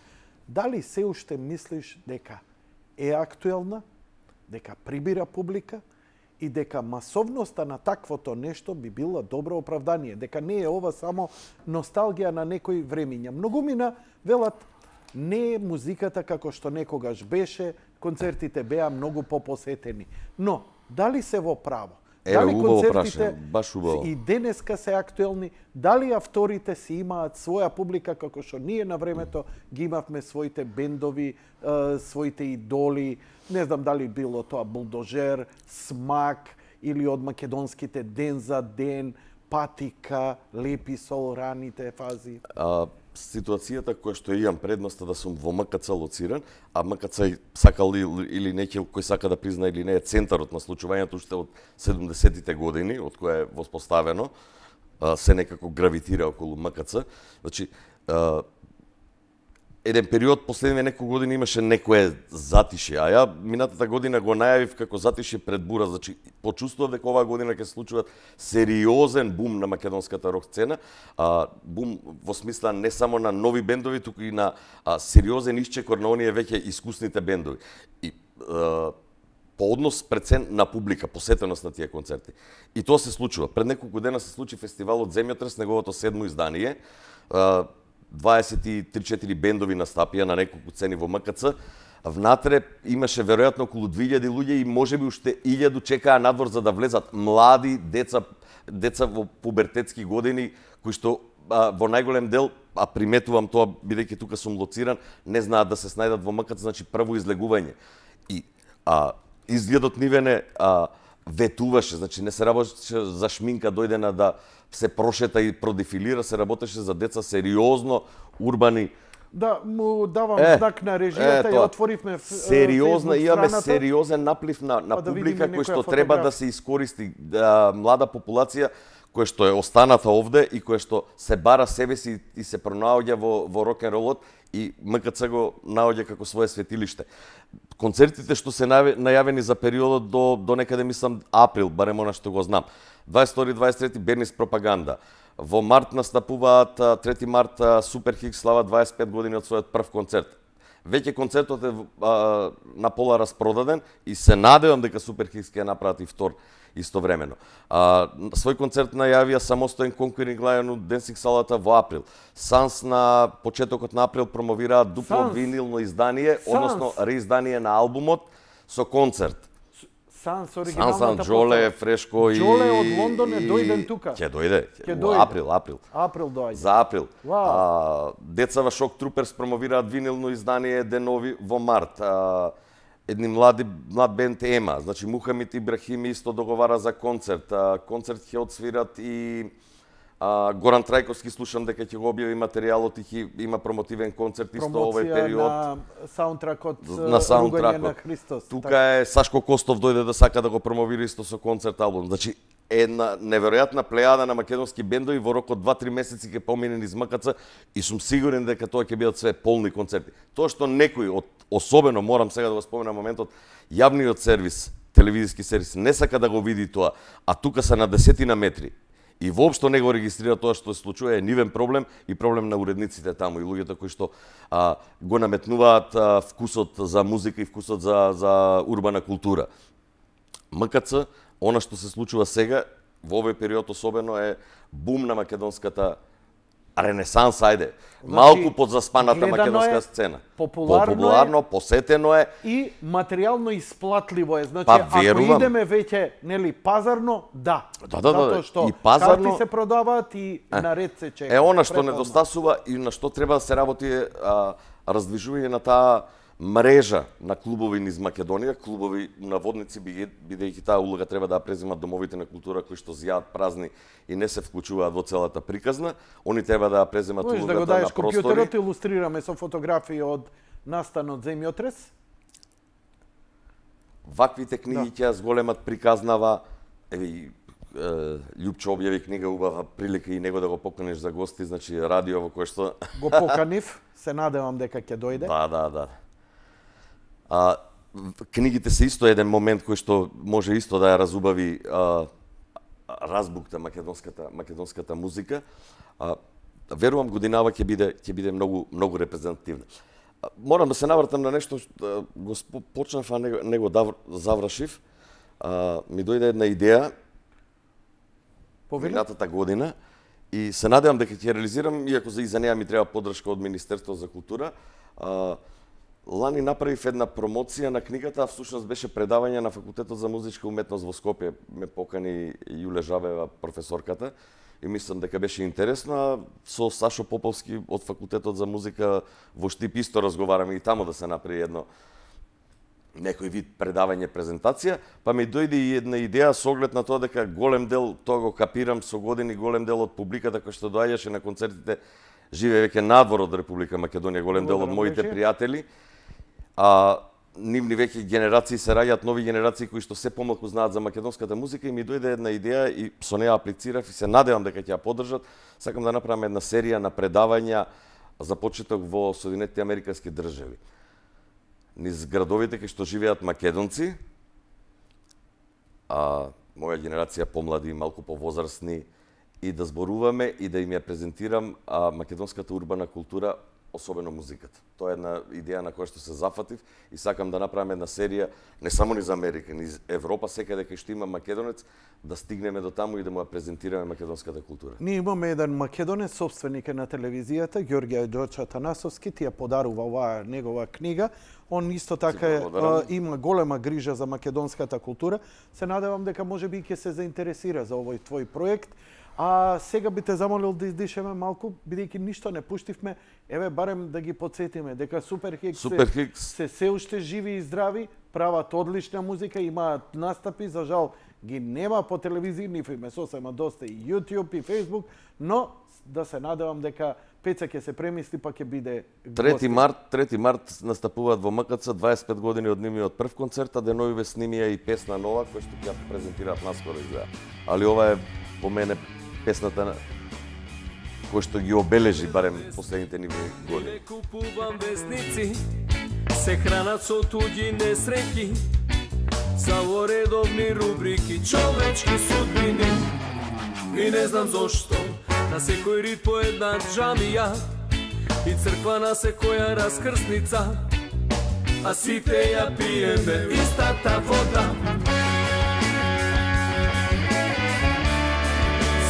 дали се уште мислиш дека е актуелна, дека прибира публика и дека масовноста на таквото нешто би било добро оправдание, дека не е ова само носталгија на некои времиња. Многумина велат не е музиката како што некогаш беше, концертите беа многу попосетени. Но дали се во право? Дали концертите баш убаво. И денеска се актуелни? Дали авторите си имаат своја публика како што ние на времето ги имавме своите бендови, своите идоли, не знам дали било тоа Булдожер, Смак или од македонските Ден за ден, Патика, Лепи сол, раните фази? Ситуацијата која што имам предноста да сум во МКЦ лоциран, а МКЦ сакал или некој кој сака да призна или не е центарот на случувањето уште од 70-тите години, од која е воспоставено, се некако гравитира околу МКЦ. Значи, еден период, последниве неколку години имаше некое затишје, а ја минатата година го најавив како затишје пред бура, значи почувствував дека оваа година ќе се случува сериозен бум на македонската рок сцена, бум во смисла не само на нови бендови, туку и на сериозен исчекор на оние веќе искусните бендови. И по однос прецен на публика, посетеност на тие концерти. И тоа се случува. Пред неколку дена се случи фестивалот Земјотрес, неговото 7-о издание. 23-4 бендови настапија на неколку цени во МКЦ. Внатре имаше веројатно околу 2000 луѓе и можеби уште 1000 чекаа надвор за да влезат млади деца во пубертетски години кои што во најголем дел, а приметувам тоа бидејќи тука сум лоциран, не знаат да се снајдат во МКЦ, значи прво излегување. И изгледот нивене ветуваше, значи не се работеше за шминка дојдена да се прошета и продефилира, се работеше за деца сериозно, урбани. Да, му давам знак на режијата и отворивме сериозна, имаме сериозен наплив на да публика кој што фотографија. треба да се искористи, млада популација која што е останата овде и која што се бара себе си и се пронаоѓа во рок-н-ролот и МКЦ го наоѓа како свое светилиште. Концертите што се најавени за периодот до некаде мислам април, барем она што го знам. 22-23 Бернис пропаганда. Во март настапуваат 3 март Супер Хикс слава 25 години од својот прв концерт. Веќе концертот е на пола распродаден и се надевам дека Супер Хикс ќе направат и втор истовремено. Свој концерт најавија самостоен Conquering Lion од Денсинг салата во април. Санс на почетокот на април промовираат дупло винилно издание, односно реиздание на албумот со концерт. Санс оригиналната Джоле, Фрешко и Джоле од Лондон е дојден тука. Ќе дојде. Април. Април доаѓа. За април. Децава Шок Труперс промовираат винилно издание денови во март. Едни млад бенд Ема, значи Мухамид Ибрахими исто договара за концерт. Концерт ќе отсвират и Горан Трајковски, слушам дека ќе го објави материјалот и има промотивен концерт исто овој период. На саундтракот Ругање на Христос. Тука е Сашко Костов дојде да сака да го промовира исто со концерт албум. Значи една неверојатна плејада на македонски бендови во рок од 2-3 месеци ќе помине низ МКЦ и сум сигурен дека тоа ќе бидат све полни концерти. Тоа што некој особено морам сега да го споменам моментот, јавниот сервис, телевизиски сервис не сака да го види тоа, а тука се на десетина метри. И воопшто не го регистрира тоа што се случува, е нивен проблем и проблем на уредниците таму и луѓето кои што го наметнуваат вкусот за музика и вкусот за урбана култура. МКЦ, она што се случува сега, во овој период особено е бум на македонската ренесанс, ајде. Малку подзаспаната македонска сцена. Популарно, посетено е. И материјално исплатливо е. Значи, ако идеме веќе, нели, пазарно, да. Затоа што и пазарно, карти се продаваат и наред се чека. Она што недостасува и на што треба да се работи е раздвижување на таа мрежа на клубови низ Македонија, клубови наводници, бидејќи таа улога треба да ја преземат домовите на култура кои што зјаат празни и не се вклучуваат во целата приказна, они треба да ја преземат улогата да го даеш на простори. компјутерот, илустрираме со фотографии од настанот земјотрес. Ваквите книги ќе ја зголемат приказнава. Еве Љупчо објави книга, убава прилика и него да го поканиш за гости, значи радио во кое што го поканив, се надевам дека ќе дојде. Да. Книгите се исто еден момент кој што може исто да ја разубави разбукта македонската музика. Верувам годинава ќе биде многу репрезентативна. Морам да се навратам на нешто што го почнав, а не го завршив. Ми дојде една идеја минатата година и се надевам дека ќе реализирам, иако за неја ми треба поддршка од Министерството за култура. Лани направив една промоција на книгата, а всушност беше предавање на Факултетот за музичка уметност во Скопје. Ме покани Јуле Жабева, професорката, и мислам дека беше интересно. А со Сашо Поповски од Факултетот за музика во Штип исто разговараме и таму да се направи едно некој вид предавање, презентација, па ми дојде и една идеја со оглед на тоа дека голем дел, тоа го капирам со години, голем дел од публиката кој што доаѓаше на концертите живее веќе надвор од Република Македонија, голем дел од моите пријатели, нивни веќе генерации се раѓаат, нови генерации кои што се помалку знаат за македонската музика, и ми дојде една идеја и со неја аплицирав и се надевам дека ќе ја поддржат. Сакам да направам една серија на предавања за почеток во Соединетите Американски држави. Низ градовите кај што живеат македонци, моја генерација помлади, малку повозрастни, и да зборуваме и да им ја презентирам македонската урбана култура, особено музиката. Тоа е една идеја на која што се зафатив и сакам да направам една серија не само низ Америка, низ Европа, секаде кај што има македонец, да стигнеме до таму и да му ја презентираме македонската култура. Ние имаме еден македонец, собственик на телевизијата, Ѓорѓе Ѓорча Танасовски, ти ја подарува оваа негова книга. Он исто така има голема грижа за македонската култура. Се надевам дека можеби ќе се заинтересира за овој твој проект. А сега би те замолил да издишеме малку, бидејќи ништо не пуштивме, еве барем да ги потсетиме дека Суперхикс се уште живи и здрави, прават одлична музика, имаат настапи, за жал ги нема по телевизија, нив име сосема доста и YouTube и Facebook, но да се надевам дека Пеца ќе се премисли, па ќе биде гости. 3 март настапуваат во МКЦ, 25 години од нивниот прв концерт, а деновиве снимија и песна нова, која што ќе презентираат наскоро изгледа. Али ова е по мене песната која што ги обележи барем последните нивни години. Не купувам весници, се хранат со туѓи несреќи, за во редовни рубрики, човечки судбини. И не знам зошто, на секој рид по една џамија и црква на секоја раскрсница, а сите ја пиеме истата вода.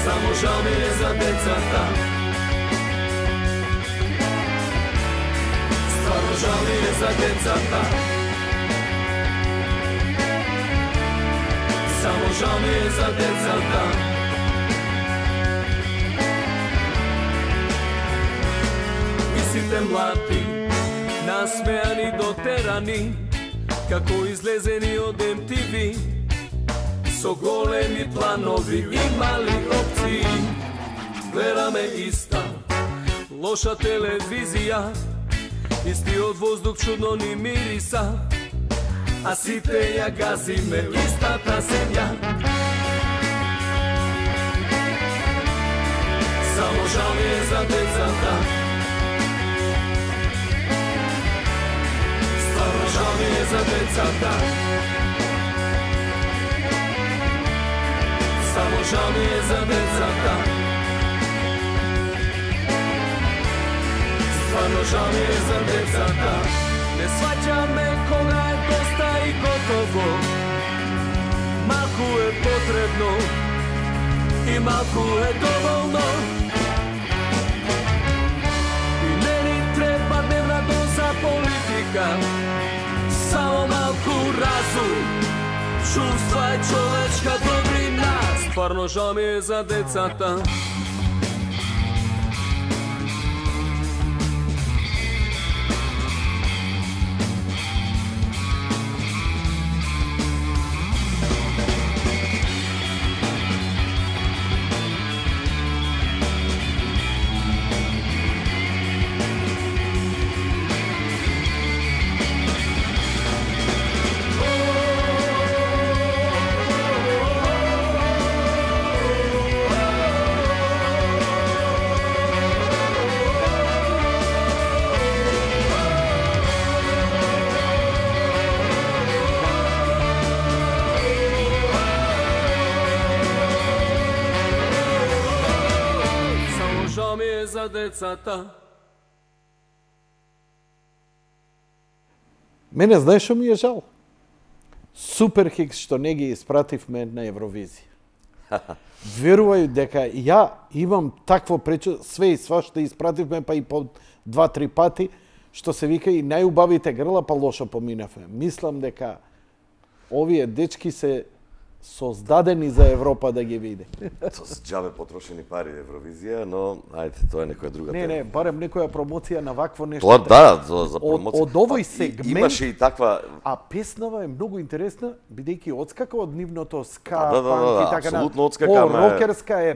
Само жал ми е за децата, стварно жал ми е за децата, само жал ми е за децата. И сите млади, насмеани дотерани, како излезени од MTV, со големи планови и мали опции. Гледаме иста лоша телевизија, истиот воздух чудно ни мириса, а сите ја газиме истата земја. Само жал ми е за децата, стварно жал ми е за децата, само жал ми е за децата, стварно жал ми е за децата. Не сваќаме кога е доста и готово, малку е потребно и малку е доволно. И не ни треба дневна доза политика, само малку разум, чувства и човечка добрина. Стварно жал ми е за децата. за децата. Мене знаеш што ми е жал? Суперхикс што не ги испративме на Евровизија. Верувај дека ја имам такво пречо, све и свашта испративме, па и по 2-3 пати, што се вика и најубавите грла, па лошо поминавме. Мислам дека овие дечки се создадени за Европа да ги види. Тоа се џабе потрошени пари Евровизија, но ајде, тоа е некоја друга тема. Не, барем некоја промоција на вакво нешто. Тоа да, за промоција. Од овој сегмент имаше и таква. А песнава е многу интересна, бидејќи отскака од нивното ска, Да, панк и така апсолутно отскака, по-рокерска е,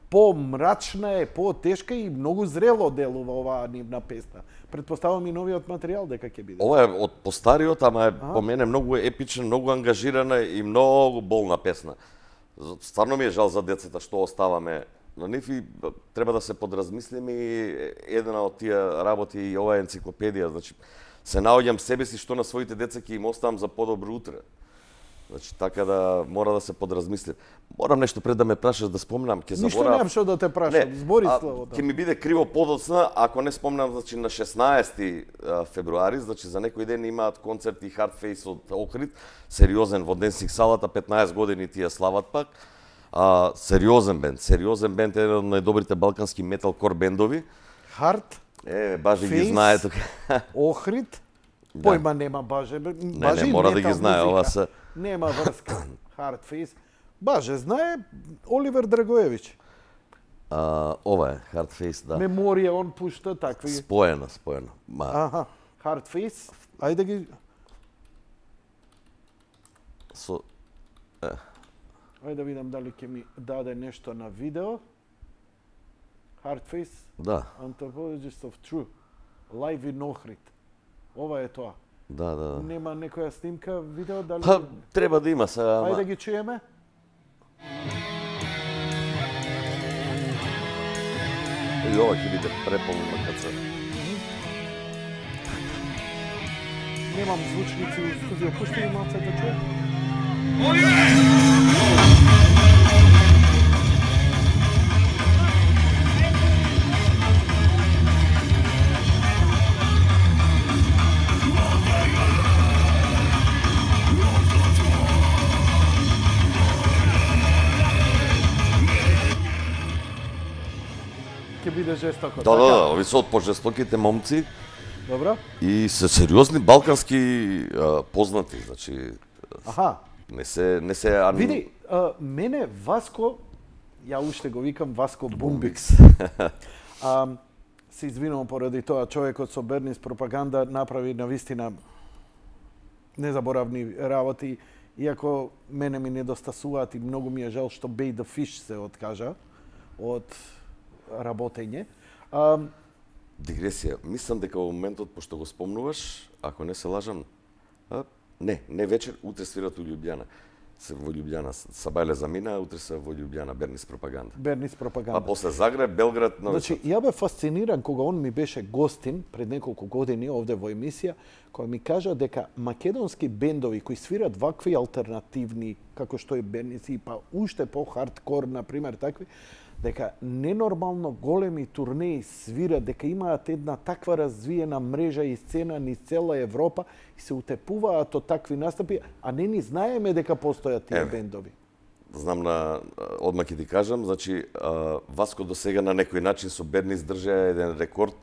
по-мрачна е, по-тешка и многу зрело делува оваа нивна песна. Претпоставам и новиот материјал дека ќе биде. Ова е од постариот, ама е по мене многу епична, многу ангажирана и многу болна песна. Стварно ми е жал за децата што оставаме. На нив и треба да се подразмислиме и една од тие работи и ова енциклопедија, значи се наоѓам себе си што на своите деца ќе им оставам за подобро утре. Значи така да мора да се подразмисли. Морам нешто пред да ме прашаш да спомнам, ќе заборавам. Ништо немам што да те прашам, збори словото. Ќе ми биде криво подоцна ако не спомнам, значи на 16 февруари, значи за некој ден имаат концерт и Hardface од Охрид, сериозен во Денсик салата, 15 години тие слават пак. Сериозен бенд, еден од најдобрите балкански металкор бендови. Хард? Баже ги знае тука. Охрид? Појма нема баже. Не, мора да ги знае, ова се. Нема врска. Hardface. Баже знае Оливер Драгоевич. Ова е Hardface, да. Меморија он пушта такви. Споено. Аха, Hardface. Ајде ги. Ајде да видам дали ќе ми даде нешто на видео. Hardface. Да. Anthropologist of True. Live in Охрид. Ова е тоа. Да. Нема некоја снимка, видео, дали... Па, треба да има сега, ама... Ајде ги чуеме. И ова ќе биде преполна каца. Немам звучници у студио, пушти ми малце да чуе. Ќе биде жестоко. Да, ови се од пожестоките момци. Добро. И се сериозни балкански познати, значи. Аха. Не се Види, мене Васко, ја уште го викам Васко Бумбикс. Се извинувам поради тоа, човекот со Бернис пропаганда направи навистина незаборавни работи, иако мене ми недостасуваат и многу ми е жал што Bay the Fish се откажа од работење. Дигресија. Мислам дека во моментот, пошто го спомнуваш, ако не се лажам, не вечер, утре свират у Љубљана. Се во Љубљана, Сабајле замина, утре се во Љубљана, Бернис пропаганда. Бернис пропаганда. А после Загреб, Белград, Нови Сад. Значи, ја бе фасциниран кога он ми беше гостин пред неколку години овде во емисија, која ми кажа дека македонски бендови кои свират вакви алтернативни, како што е Бернис и па уште по-хардкор, например, такви, дека ненормално големи турнеи свират, дека имаат една таква развиена мрежа и сцена низ цела Европа и се утепуваат од такви настапи, а не ни знаеме дека постојат тие бендови. Знам одма ќе ти кажам, значи Васко до сега на некој начин со Бернис држа еден рекорд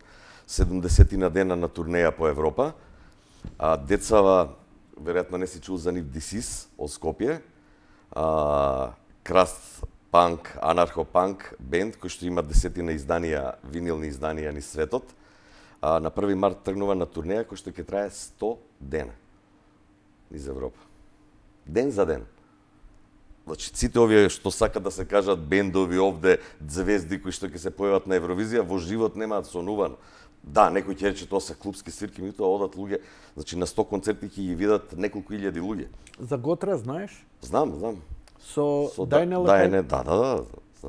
70 на дена на турнеја по Европа. А децава, веројатно не си чул за нив Дисис од Скопје, Краст панк, анархо-панк бенд кој што има 10 изданија, винилни изданија низ светот. На 1 март тргнува на турнеја кој што ќе трае 100 дена низ Европа. Ден за ден. Значи, сите овие што сакат да се кажат бендови овде, звезди кои што ќе се појават на Евровизија, во живот немаат сонувано. Да, некој ќе рече тоа се клубски свирки, меѓутоа одат луѓе, значи на 100 концерти ќе ги видат неколку илјади луѓе. За Готра знаеш? Знам. Со Дајнел. Да.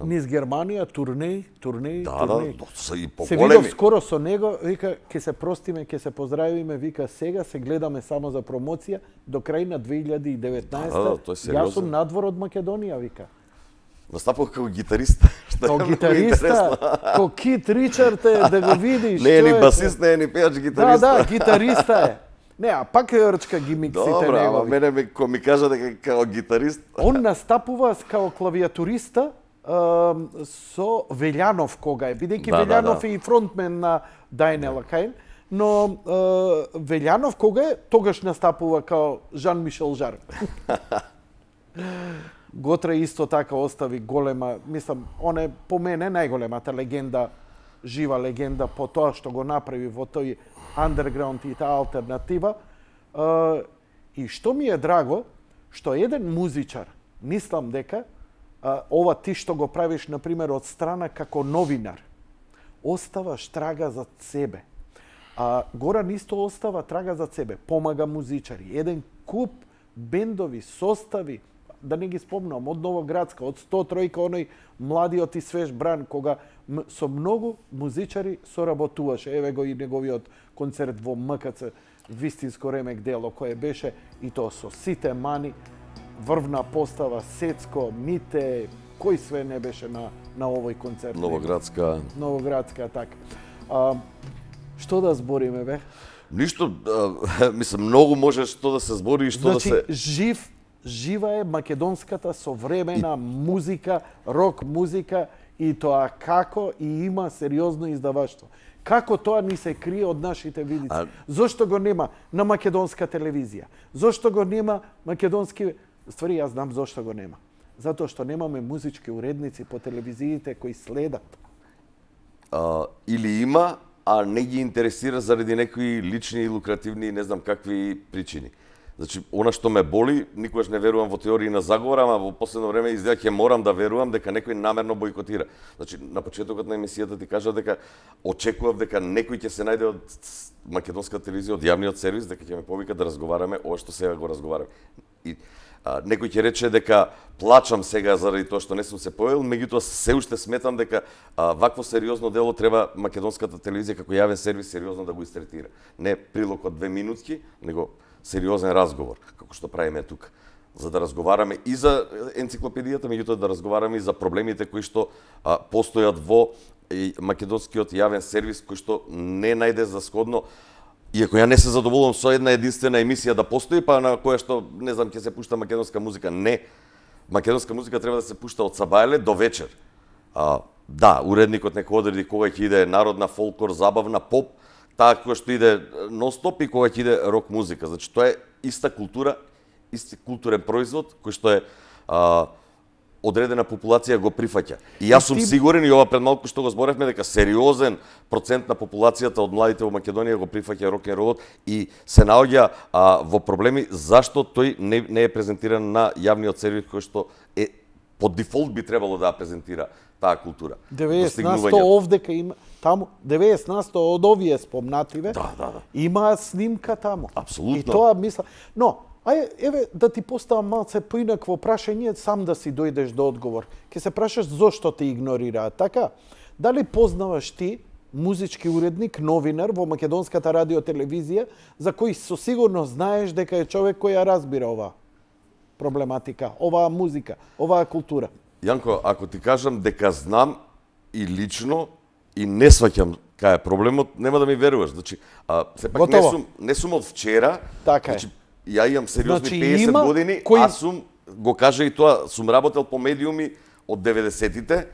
Низ Германија, турнеи. Да, се и поголеми. Се видов скоро со него, вика, ќе се простиме, ќе се поздравиме, вика, сега се гледаме само за промоција, до крај на 2019. Тој Јас сум надвор од Македонија, вика. Настапува како гитарист, Као гитариста, као Кит Ричард е, да го видиш. Не е ни басист, не е ни пејач, гитариста. Да, гитариста е. Не, а пак е рчка гимиксите негови. Добра, ама мене ми кажа дека као гитарист. Он настапува као клавиатуриста со Велјанов кога е, бидејќи Велјанов е и фронтмен на Дајнела Кајн, но Велјанов кога е, тогаш настапува као Жан-Мишел Жар. Готра исто така остави голема, мислам, он е по мене најголемата легенда, жива легенда по тоа што го направи во тој андерграунд и таа алтернатива. И што ми е драго, што еден музичар, мислам дека ова ти што го правиш, например, од страна како новинар, оставаш трага за себе. Горан исто остава трага за себе, помага музичари, еден куп бендови, состави, да не ги спомнам, од Новоградска, од 103, оној младиот и свеж бран, кога со многу музичари соработуваше. Еве го и неговиот концерт во МКЦ, вистинско ремек дело, кое беше и тоа со сите мани, врвна постава, Сецко, Мите, кој све не беше на овој концерт. Новоградска, така. Што да збориме, бе? Ништо, мислам, многу може што да се збори и што да се... Жива е македонската современа музика, рок музика, и тоа како и има сериозно издаваштво. Како тоа ни се крие од нашите видици? Зошто го нема на македонска телевизија? Зошто го нема македонски... Ствари, јас знам зошто го нема. Затоа што немаме музички уредници по телевизиите кои следат. Или има, а не ги интересира заради некои лични и лукративни, не знам какви причини. Значи, она што ме боли, никогаш не верувам во теории на заговор, ама во последно време изгледа ќе морам да верувам дека некој намерно бойкотира. Значи, на почетокот на емисијата ти кажав дека очекував дека некој ќе се најде од македонската телевизија, од јавниот сервис, дека ќе ме повика да разговараме ова што сега го разговараме. И некој ќе рече дека плачам сега заради тоа што не сум се појавил, меѓутоа се уште сметам дека вакво сериозно дело треба македонската телевизија како јавен сервис сериозно да го истретира. Не прилог од 2 минутки, него сериозен разговор, како што правиме тука, за да разговараме и за енциклопедијата, меѓутоа да разговараме и за проблемите кои што постојат во македонскиот јавен сервис, кој што не најде за сходно, иако ја не се задоволувам со една единствена емисија да постои, па на која што, не знам, ќе се пушта македонска музика. Не. Македонска музика треба да се пушта од сабајле до вечер. Да, уредникот нека одреди кога ќе иде народна, фолклор, забавна, поп, таа која што иде нон-стоп и кога ќе иде рок музика. Значи, тоа е иста култура, исти културен производ, кој што е одредена популација го прифаќа. И јас сум сигурен, и ова пред малку што го зборевме, дека сериозен процент на популацијата од младите во Македонија го прифаќа рок-н-ролот и се наоѓа во проблеми зашто тој не е презентиран на јавниот сервис кој што е по дефолт би требало да презентира таа култура. 90% овдека има таму, 90% од овие спомнативе, има снимка таму. Апсолутно. И тоа мисла, но еве да ти поставам малце поинакво прашање, сам да си дојдеш до одговор. Ке се прашаш зошто те игнорираат, така? Дали познаваш ти музички уредник, новинар во македонската радиотелевизија, за кој со сигурност знаеш дека е човек кој ја разбира оваа проблематика, оваа музика, оваа култура? Јанко, ако ти кажам дека знам и лично и не сваќам кај е проблемот, нема да ми веруваш. Значи, сепак не сум од вчера. Така значи, ја имам сериозни 50 години, аз сум, го кажа и тоа, сум работел по медиуми од 90-тите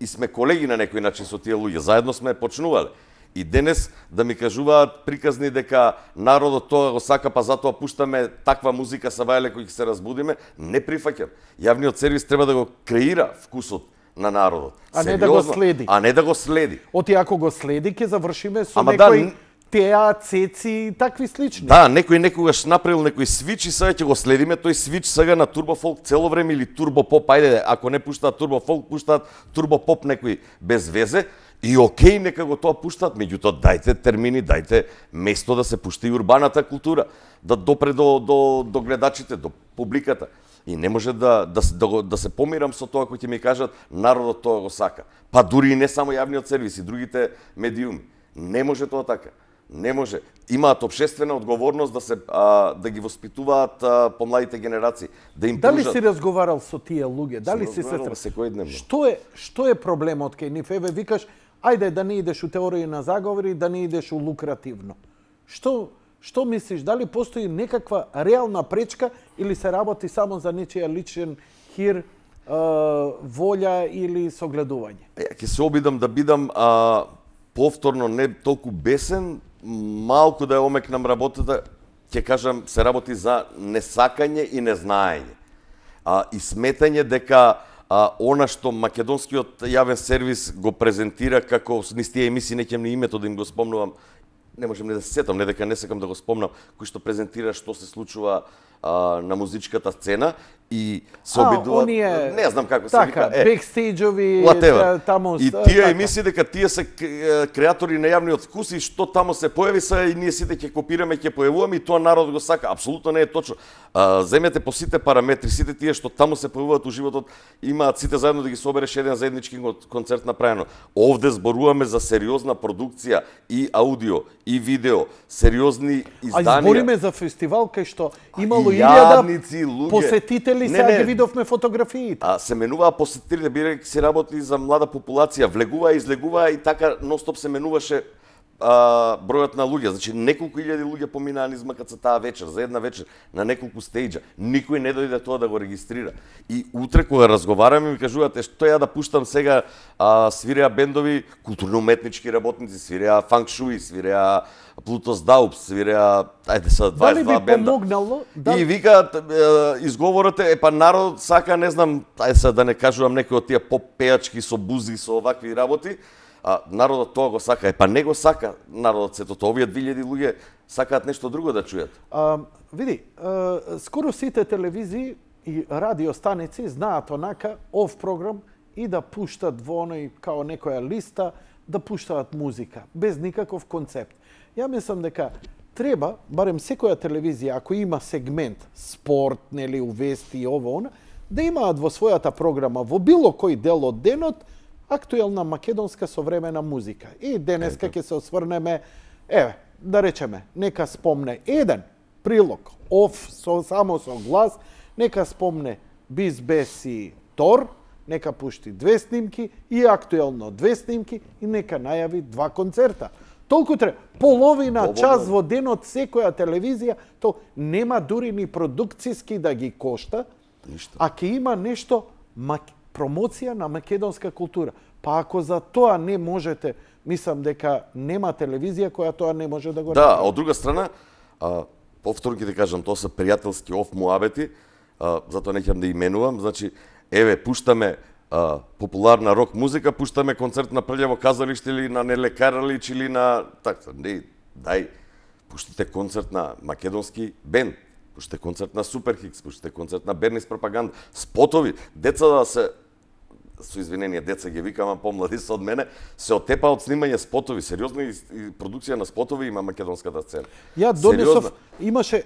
и сме колеги на некој начин со тие луѓе. Заедно сме почнувале. И денес да ми кажуваат приказни дека народот тоа го сака, па затоа пуштаме таква музика са вајле кој ќе се разбудиме, не прифаќам. Јавниот сервис треба да го креира вкусот на народот. А не да го следи. А не да го следи. Оти ако го следи, ќе завршиме со некој теа, цеци и такви слични. Да, некој некогаш направил некој свич и сега ќе го следиме тој свич сега на турбофолк цело време или турбопоп, ајде, ако не пуштаат турбофолк, пуштаат турбопоп некој без везе. И окей, нека го тоа пуштаат, меѓутоа дајте термини, дајте место да се пушти урбаната култура, да допре до гледачите, до публиката. И не може да се помирам со тоа кој ќе ми кажат народот тоа го сака. Па дури и не само јавниот сервис, и другите медиуми. Не може тоа така. Не може. Имаат општествена одговорност да ги воспитуваат помладите генерации, да им Дали пружат. си разговарал со тие луѓе? Дали си се секојдневно. Што е проблемот кај нив? Еве викаш, ајде да не идеш у теории на заговори, да не идеш у лукративно. Што мислиш? Дали постои некаква реална пречка или се работи само за нечија личен хир, волја или согледување? Ќе се обидам да бидам повторно не толку бесен, малку да ја омекнам работата, ќе кажам, се работи за несакање и незнаење. И сметање дека она што македонскиот јавен сервис го презентира како низ тие емисии, не ќе ми името да им го спомнувам, не можам не да се сетам, не дека не сакам да го спомнам, кој што презентира што се случува на музичката сцена и се обидува, не знам како се вика, бекстејџови, таму. И тие емисии дека тие се креатори на јавниот вкус и што таму се појави се и ние сите ќе копираме, ќе појавуваме и тоа народ го сака. Апсолутно не е точно. Земете по сите параметри, сите тие што таму се појавуваат у животот, имаат сите заедно да ги собереш еден заеднички концерт направено. Овде зборуваме за сериозна продукција и аудио и видео, сериозни изданија. Збориме за фестивал кај што имало 1000 посетители. Сега ги видовме фотографиите. Се менуваа посетителите, бидејќи се работи за млада популација, влегуваа и излегуваа и така ностоп се менуваше бројот на луѓе. Значи неколку илјади луѓе поминаа низ МКЦ таа вечер, за една вечер, на неколку стејџа. Никој не дојде тоа да го регистрира. И утре кога разговараме ми кажуваат што ја да пуштам сега, свиреа бендови, културно-уметнички работници, свиреа фанк шуи, свиреа Плутос Даупс, свиреа, ајде са 22 бенда. Дали би помогнало? И викаат, изговорот е, па народ сака, не знам, ајде са да не кажувам некои од тие поп пејачки со бузи, со овакви работи, народот тоа го сака. Па не го сака народот сето тоа. Овие 2000 луѓе сакаат нешто друго да чујат. Види, скоро сите телевизии и радиостаници знаат онака ов програм и да пуштат во оној као некоја листа, да пуштаат музика, без никаков концепт. Ја мислам дека треба, барем секоја телевизија, ако има сегмент спорт, нели, увести и ово, она, да имаат во својата програма, во било кој дел од денот, актуелна македонска современа музика. И денеска ќе се осврнеме, да речеме, нека спомне еден прилог, само со глас, нека спомне Биз Беси Тор, нека пушти 2 снимки и актуелно 2 снимки и нека најави 2 концерта. Толку треба, половина час во денот секоја телевизија, то нема дури ни продукцијски да ги кошта, а ќе има нешто промоција на македонска култура. Па ако за тоа не можете, мислам дека нема телевизија која тоа не може да го направи. Да, од друга страна, повторно ќе ти кажам, тоа се пријателски муабети, затоа не ќе да именувам, значи, еве, пуштаме популарна рок музика, пуштаме концерт на Прљаво казалиште или на Неле Каралич или на... Така, не, дај, пуштите концерт на македонски бенд, пуштите концерт на Суперхикс, пуштите концерт на Бернис Пропаганда, спотови, деца да се, со извинение, деца ги викам, помлади се од мене, се отепа од снимање спотови, сериозна и продукција на спотови има македонската сцена. Ја донесов, имаше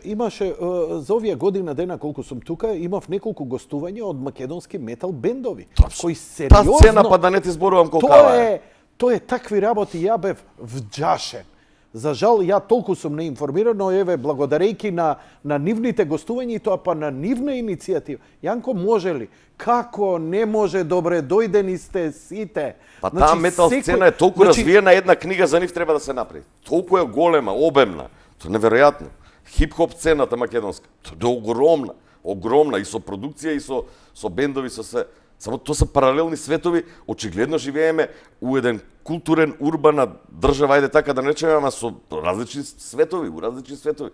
за овие година дена колку сум тука, имав неколку гостувања од македонски метал бендови, кои сериозно... Та сцена, па да не ти зборувам колкава е. Тоа е такви работи, ја бев вџашен. За жал, ја толку сум неинформиран, но еве, благодарејќи на нивните гостувања и тоа па на нивна иницијатива. Јанко, може ли? Како не може, добре, дојдени сте сите. Па таа метал сцена е толку развиена, една книга за нив треба да се направи. Толку е голема, обемна. Тоа е неверојатно. Хип-хоп сцената македонска. Тоа е огромна, огромна и со продукција и со бендови, со се. Само тоа се паралелни светови, очигледно живееме у еден културен, урбана држава, ајде така да речеме, ама со различни светови, у различни светови.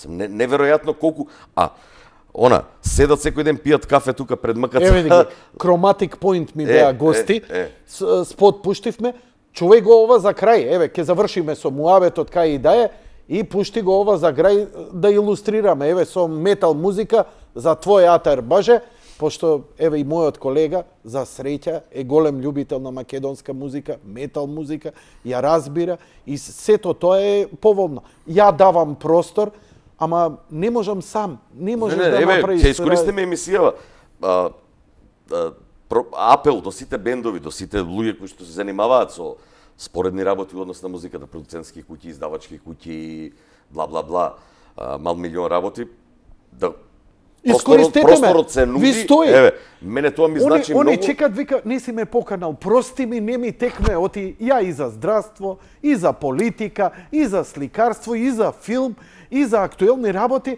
Неверојатно колку... седат секој ден пијат кафе тука пред МКЦ. Еве ги, Chromatic Point ми беа гости, спот пуштивме, чувај го ова за крај, еве, ќе завршиме со муабетот кај и да е, и пушти го ова за крај да илустрираме, еве, со метал музика за твој атар, баже, пошто, еве, и мојот колега, за среќа, е голем љубител на македонска музика, метал музика, ја разбира, и сето тоа е поволно. Ја давам простор, ама не можам сам, не можеш да направиш... Ќе искористиме емисијава. Апел до сите бендови, до сите луѓе кои што се занимаваат со споредни работи во однос на музиката, продуцентски куќи, издавачки куќи, бла бла бла, мал милион работи, да просторот се нуди. Еве, мене тоа ми значи многу. Они чекат, вика, не си ме поканал, прости ми, не ми текме, оти ја и за здравство, и за политика, и за сликарство, и за филм, и за актуелни работи.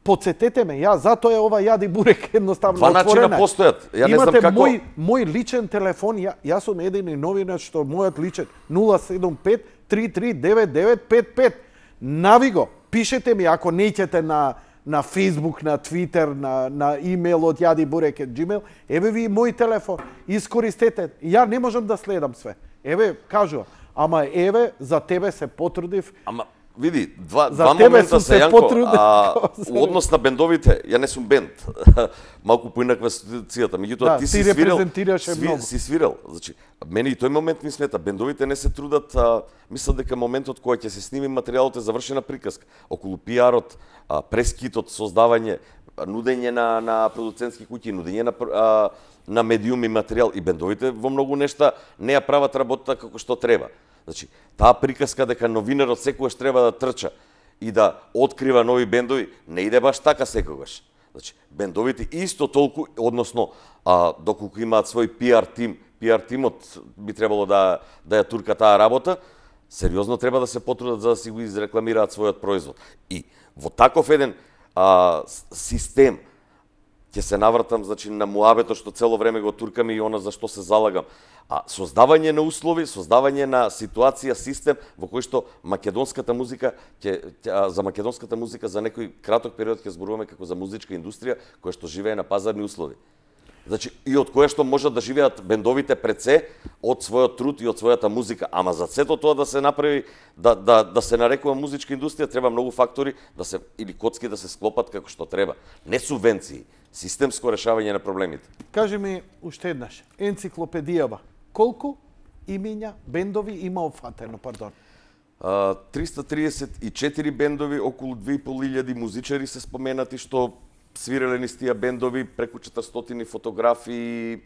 Подсетете ме, ја затоа е ова јади бурек едноставно отворена. Два начина постојат. Ја не знам како. Имате мој личен телефон, јас сум едини новинар што мојот личен 075 339955. Нави го, пишете ми ако неќете на Facebook, на Twitter, на имейл од jadibурek@gmail, еве ви мој телефон, искористете. Ја не можам да следам све. Еве, кажувам, ама еве, за тебе се потрудив. Ама, види, два момента се Јанко, у однос на бендовите, ја не сум бенд, малку поинаква ситуацијата, меѓутоа ти си свирил, си свирал, значи, мене и тој момент ми смета, бендовите не се трудат, мислат дека моментот кој ќе се сними материјалот е завршена приказка, околу пиарот, прескитот, создавање, нудење на продуцентски куќи, нудење на медиуми материјал и бендовите во многу нешта не ја прават работата како што треба. Значи, таа приказка дека новинарот секогаш треба да трча и да открива нови бендови, не иде баш така секогаш. Значи, бендовите исто толку, односно, доколку имаат свој пиар тимот би требало да ја турка таа работа, сериозно треба да се потрудат за да си го изрекламираат својот производ. И во таков еден систем ќе се навратам, значи, на муабето што цело време го туркам и она за што се залагам. Создавање на услови, создавање на ситуација, систем во кој што македонската музика за македонската музика за некој краток период ќе зборуваме како за музичка индустрија која што живее на пазарни услови. Значи, и од која што можат да живеат бендовите пред се од својот труд и од својата музика, ама за сето тоа да се направи, да се нарекува музичка индустрија, треба многу фактори или коцки да се склопат како што треба. Не субвенции, системско решавање на проблемите. Кажи ми уште еднаш, енциклопедијава, колку имиња, бендови има опфатено, пардон? 334 бендови, околу 2500 музичари се споменати што свиреле низ тие бендови, преку 400 фотографии,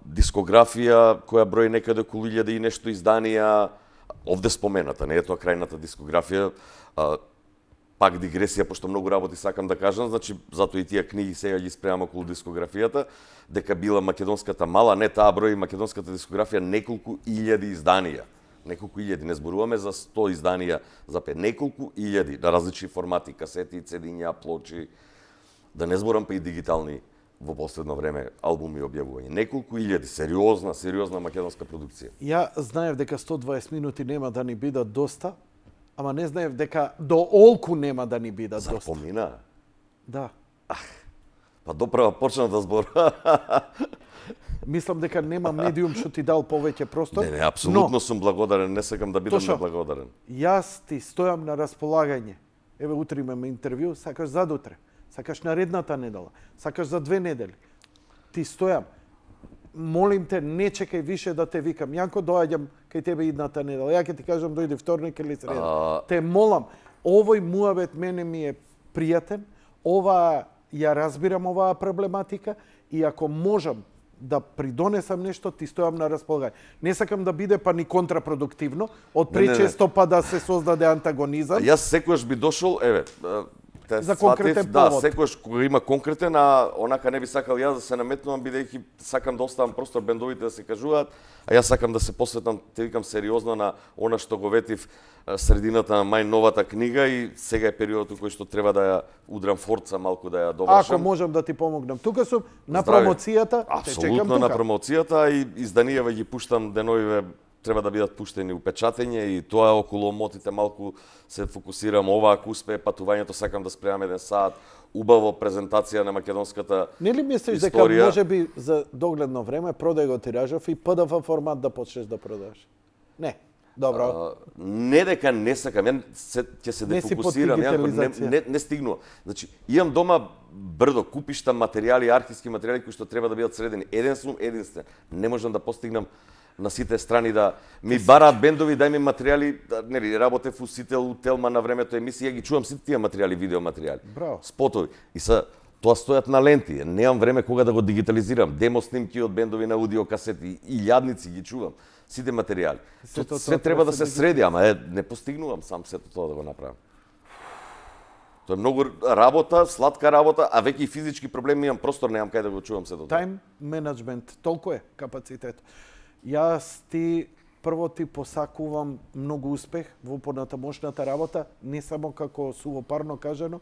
дискографија која брои некаде околу 1000 и нешто изданија, овде спомената, не е тоа крајната дискографија. Пак дигресија, пошто многу работи сакам да кажам, значи затоа и тие книги сега ги спремам околу дискографијата, дека била македонската мала, не таа број македонската дискографија неколку илјади изданија. Неколку илјади, не зборуваме за 100 изданија за 5, неколку илјади на различни формати, касети, цедиња, плочи, да не зборам па и дигитални во последно време албуми и објавување. Неколку илјади, сериозна македонска продукција. Ја знаев дека 120 минути нема да ни бидат доста, ама не знаев дека до олку нема да ни бидат доста. Запомина? Да. Па доправа почна да зборува. Мислам дека нема медиум што ти дал повеќе простор. Не, апсолутно сум благодарен, не сакам да бидам неблагодарен. Јас ти стојам на располагање. Еве утре имаме интервју, сакаш задутре, сакаш наредната недела, сакаш за 2 недели. Ти стојам. Молим те, не чекај више да те викам. Јанко, доаѓам кај тебе идната недела. Ја ќе ти кажам дојди вторник или среда. Те молам, овој муабет мене ми е пријатен, ја разбирам оваа проблематика и ако можам да придонесам нешто, ти стојам на располагање. Не сакам да биде па ни контрапродуктивно, од пречесто па да се создаде антагонизам. Јас секогаш би дошол, еве, за конкретен повод. Да, секогаш кога има конкретен, а онака не би сакал јас да се наметнувам, бидејќи сакам да оставам простор бендовите да се кажуваат, а јас сакам да се посветам, те викам, сериозно на она што го ветив средината на мај новата книга и сега е периодот кој што треба да ја удрам форца малку да ја довршам. Ако можам да ти помогнам. Тука сум на промоцијата, те чекам тука. Апсолутно на промоцијата и изданијава ги пуштам деновиве, треба да бидат пуштени упечатење и тоа околу омотите малку се фокусирам. Ова ако успее патувањето, сакам да спремам 1 сат, убаво презентација на македонската историја. Не ли мислиш дека можеби за догледно време продај го тиражов и PDF формат да почнеш да продаваш? Не. Добро. Не дека не сакам, ќе се дефокусирам, не стигнува. Значи, имам дома брдо купишта материјали, архивски материјали кои што треба да бидат средени. Еден сум единствен. Не можам да постигнам на сите страни да ми бараат бендови, дај ми материјали, нели работев у Сител, у Телма на времето емисија, ги чувам сите тие материјали, видео материјали. Браво. Спотови. И Тоа стојат на ленти, немам време кога да го дигитализирам. Демо снимки од бендови на аудио касети, и јадници ги чувам, сите материјали. Све треба да се среди, ама не постигнувам сам сето тоа да го направам. Тоа е многу работа, сладка работа, а веќе и физички проблеми имам, простор немам кај да го чувам сето тоа. Тайм менеджмент, толку е капацитет. Јас прво ти посакувам многу успех во понатамошната работа, не само како сувопарно кажано,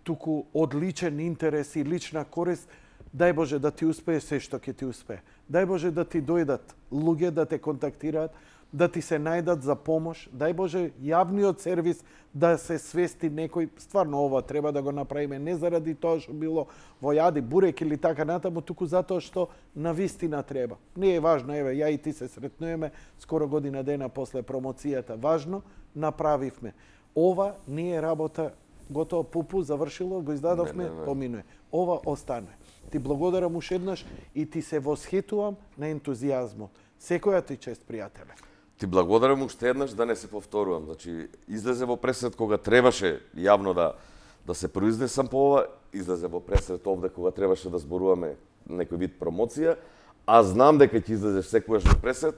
туку одличен интерес и лична корист. Дај Боже да ти успее се што ќе ти успее. Дај Боже да ти дојдат луѓе да те контактираат, да ти се најдат за помош. Дај Боже јавниот сервис да се свести некој. Стварно ова треба да го направиме не заради тоа што било во јади, бурек или така натаму, туку затоа што навистина треба. Не е важно, еве, ја и ти се сретнуваме скоро година дена после промоцијата. Важно, направивме. Ова не е работа готово, пупу, завршило, го издадовме, поминуе. Ова останува. Ти благодарам уште еднаш и ти се восхитувам на ентузијазмот. Секоја ти чест, пријателе. Ти благодарам уште еднаш, да не се повторувам. Значи, излезе во пресред кога требаше јавно да се произнесам по ова, излезе во пресред овде кога требаше да зборуваме некој вид промоција, а знам дека ќе излезеш секогаш во пресред,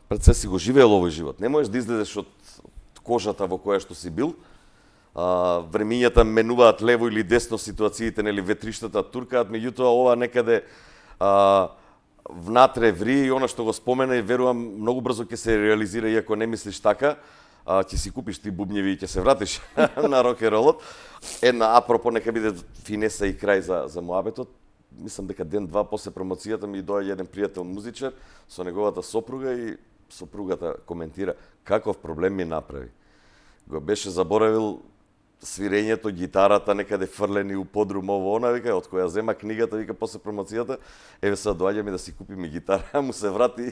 пред се си го живеел овој живот. Не можеш да излезеш од кожата во која што си бил. Времињата менуваат лево или десно, ситуациите, нели, ветриштата туркаат, меѓутоа ова некаде внатре ври и она што го спомена и верувам многу брзо ќе се реализира, иако не мислиш така, ќе си купиш ти бубњеви и ќе се вратиш на рок-н-ролот. Една апропо, нека биде финеса и крај за муабетот. Мислам дека ден-два после промоцијата ми доаѓа еден пријател музичар со неговата сопруга и сопругата коментира каков проблем ми направи. Го беше заборавил свирењето, гитарата некаде фрлени у подрум ово она, вика, од која зема книгата, вика, после промоцијата, еве сега доаѓаме да си купиме гитара, му се врати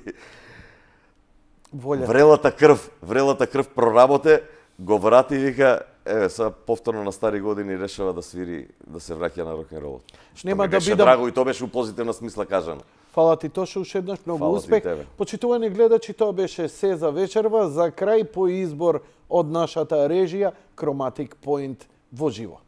врелата крв проработе, го врати и вика, еве сега повторно на стари години решава да свири, да се враќа на рок-н-ролот. Нема да бидам драго и тоа беше у позитивна смисла кажано. Фала ти Тошо, уште еднаш многу успех. Почитувани гледачи, тоа беше се за вечерва, за крај по избор од нашата режија Chromatic Point во живо.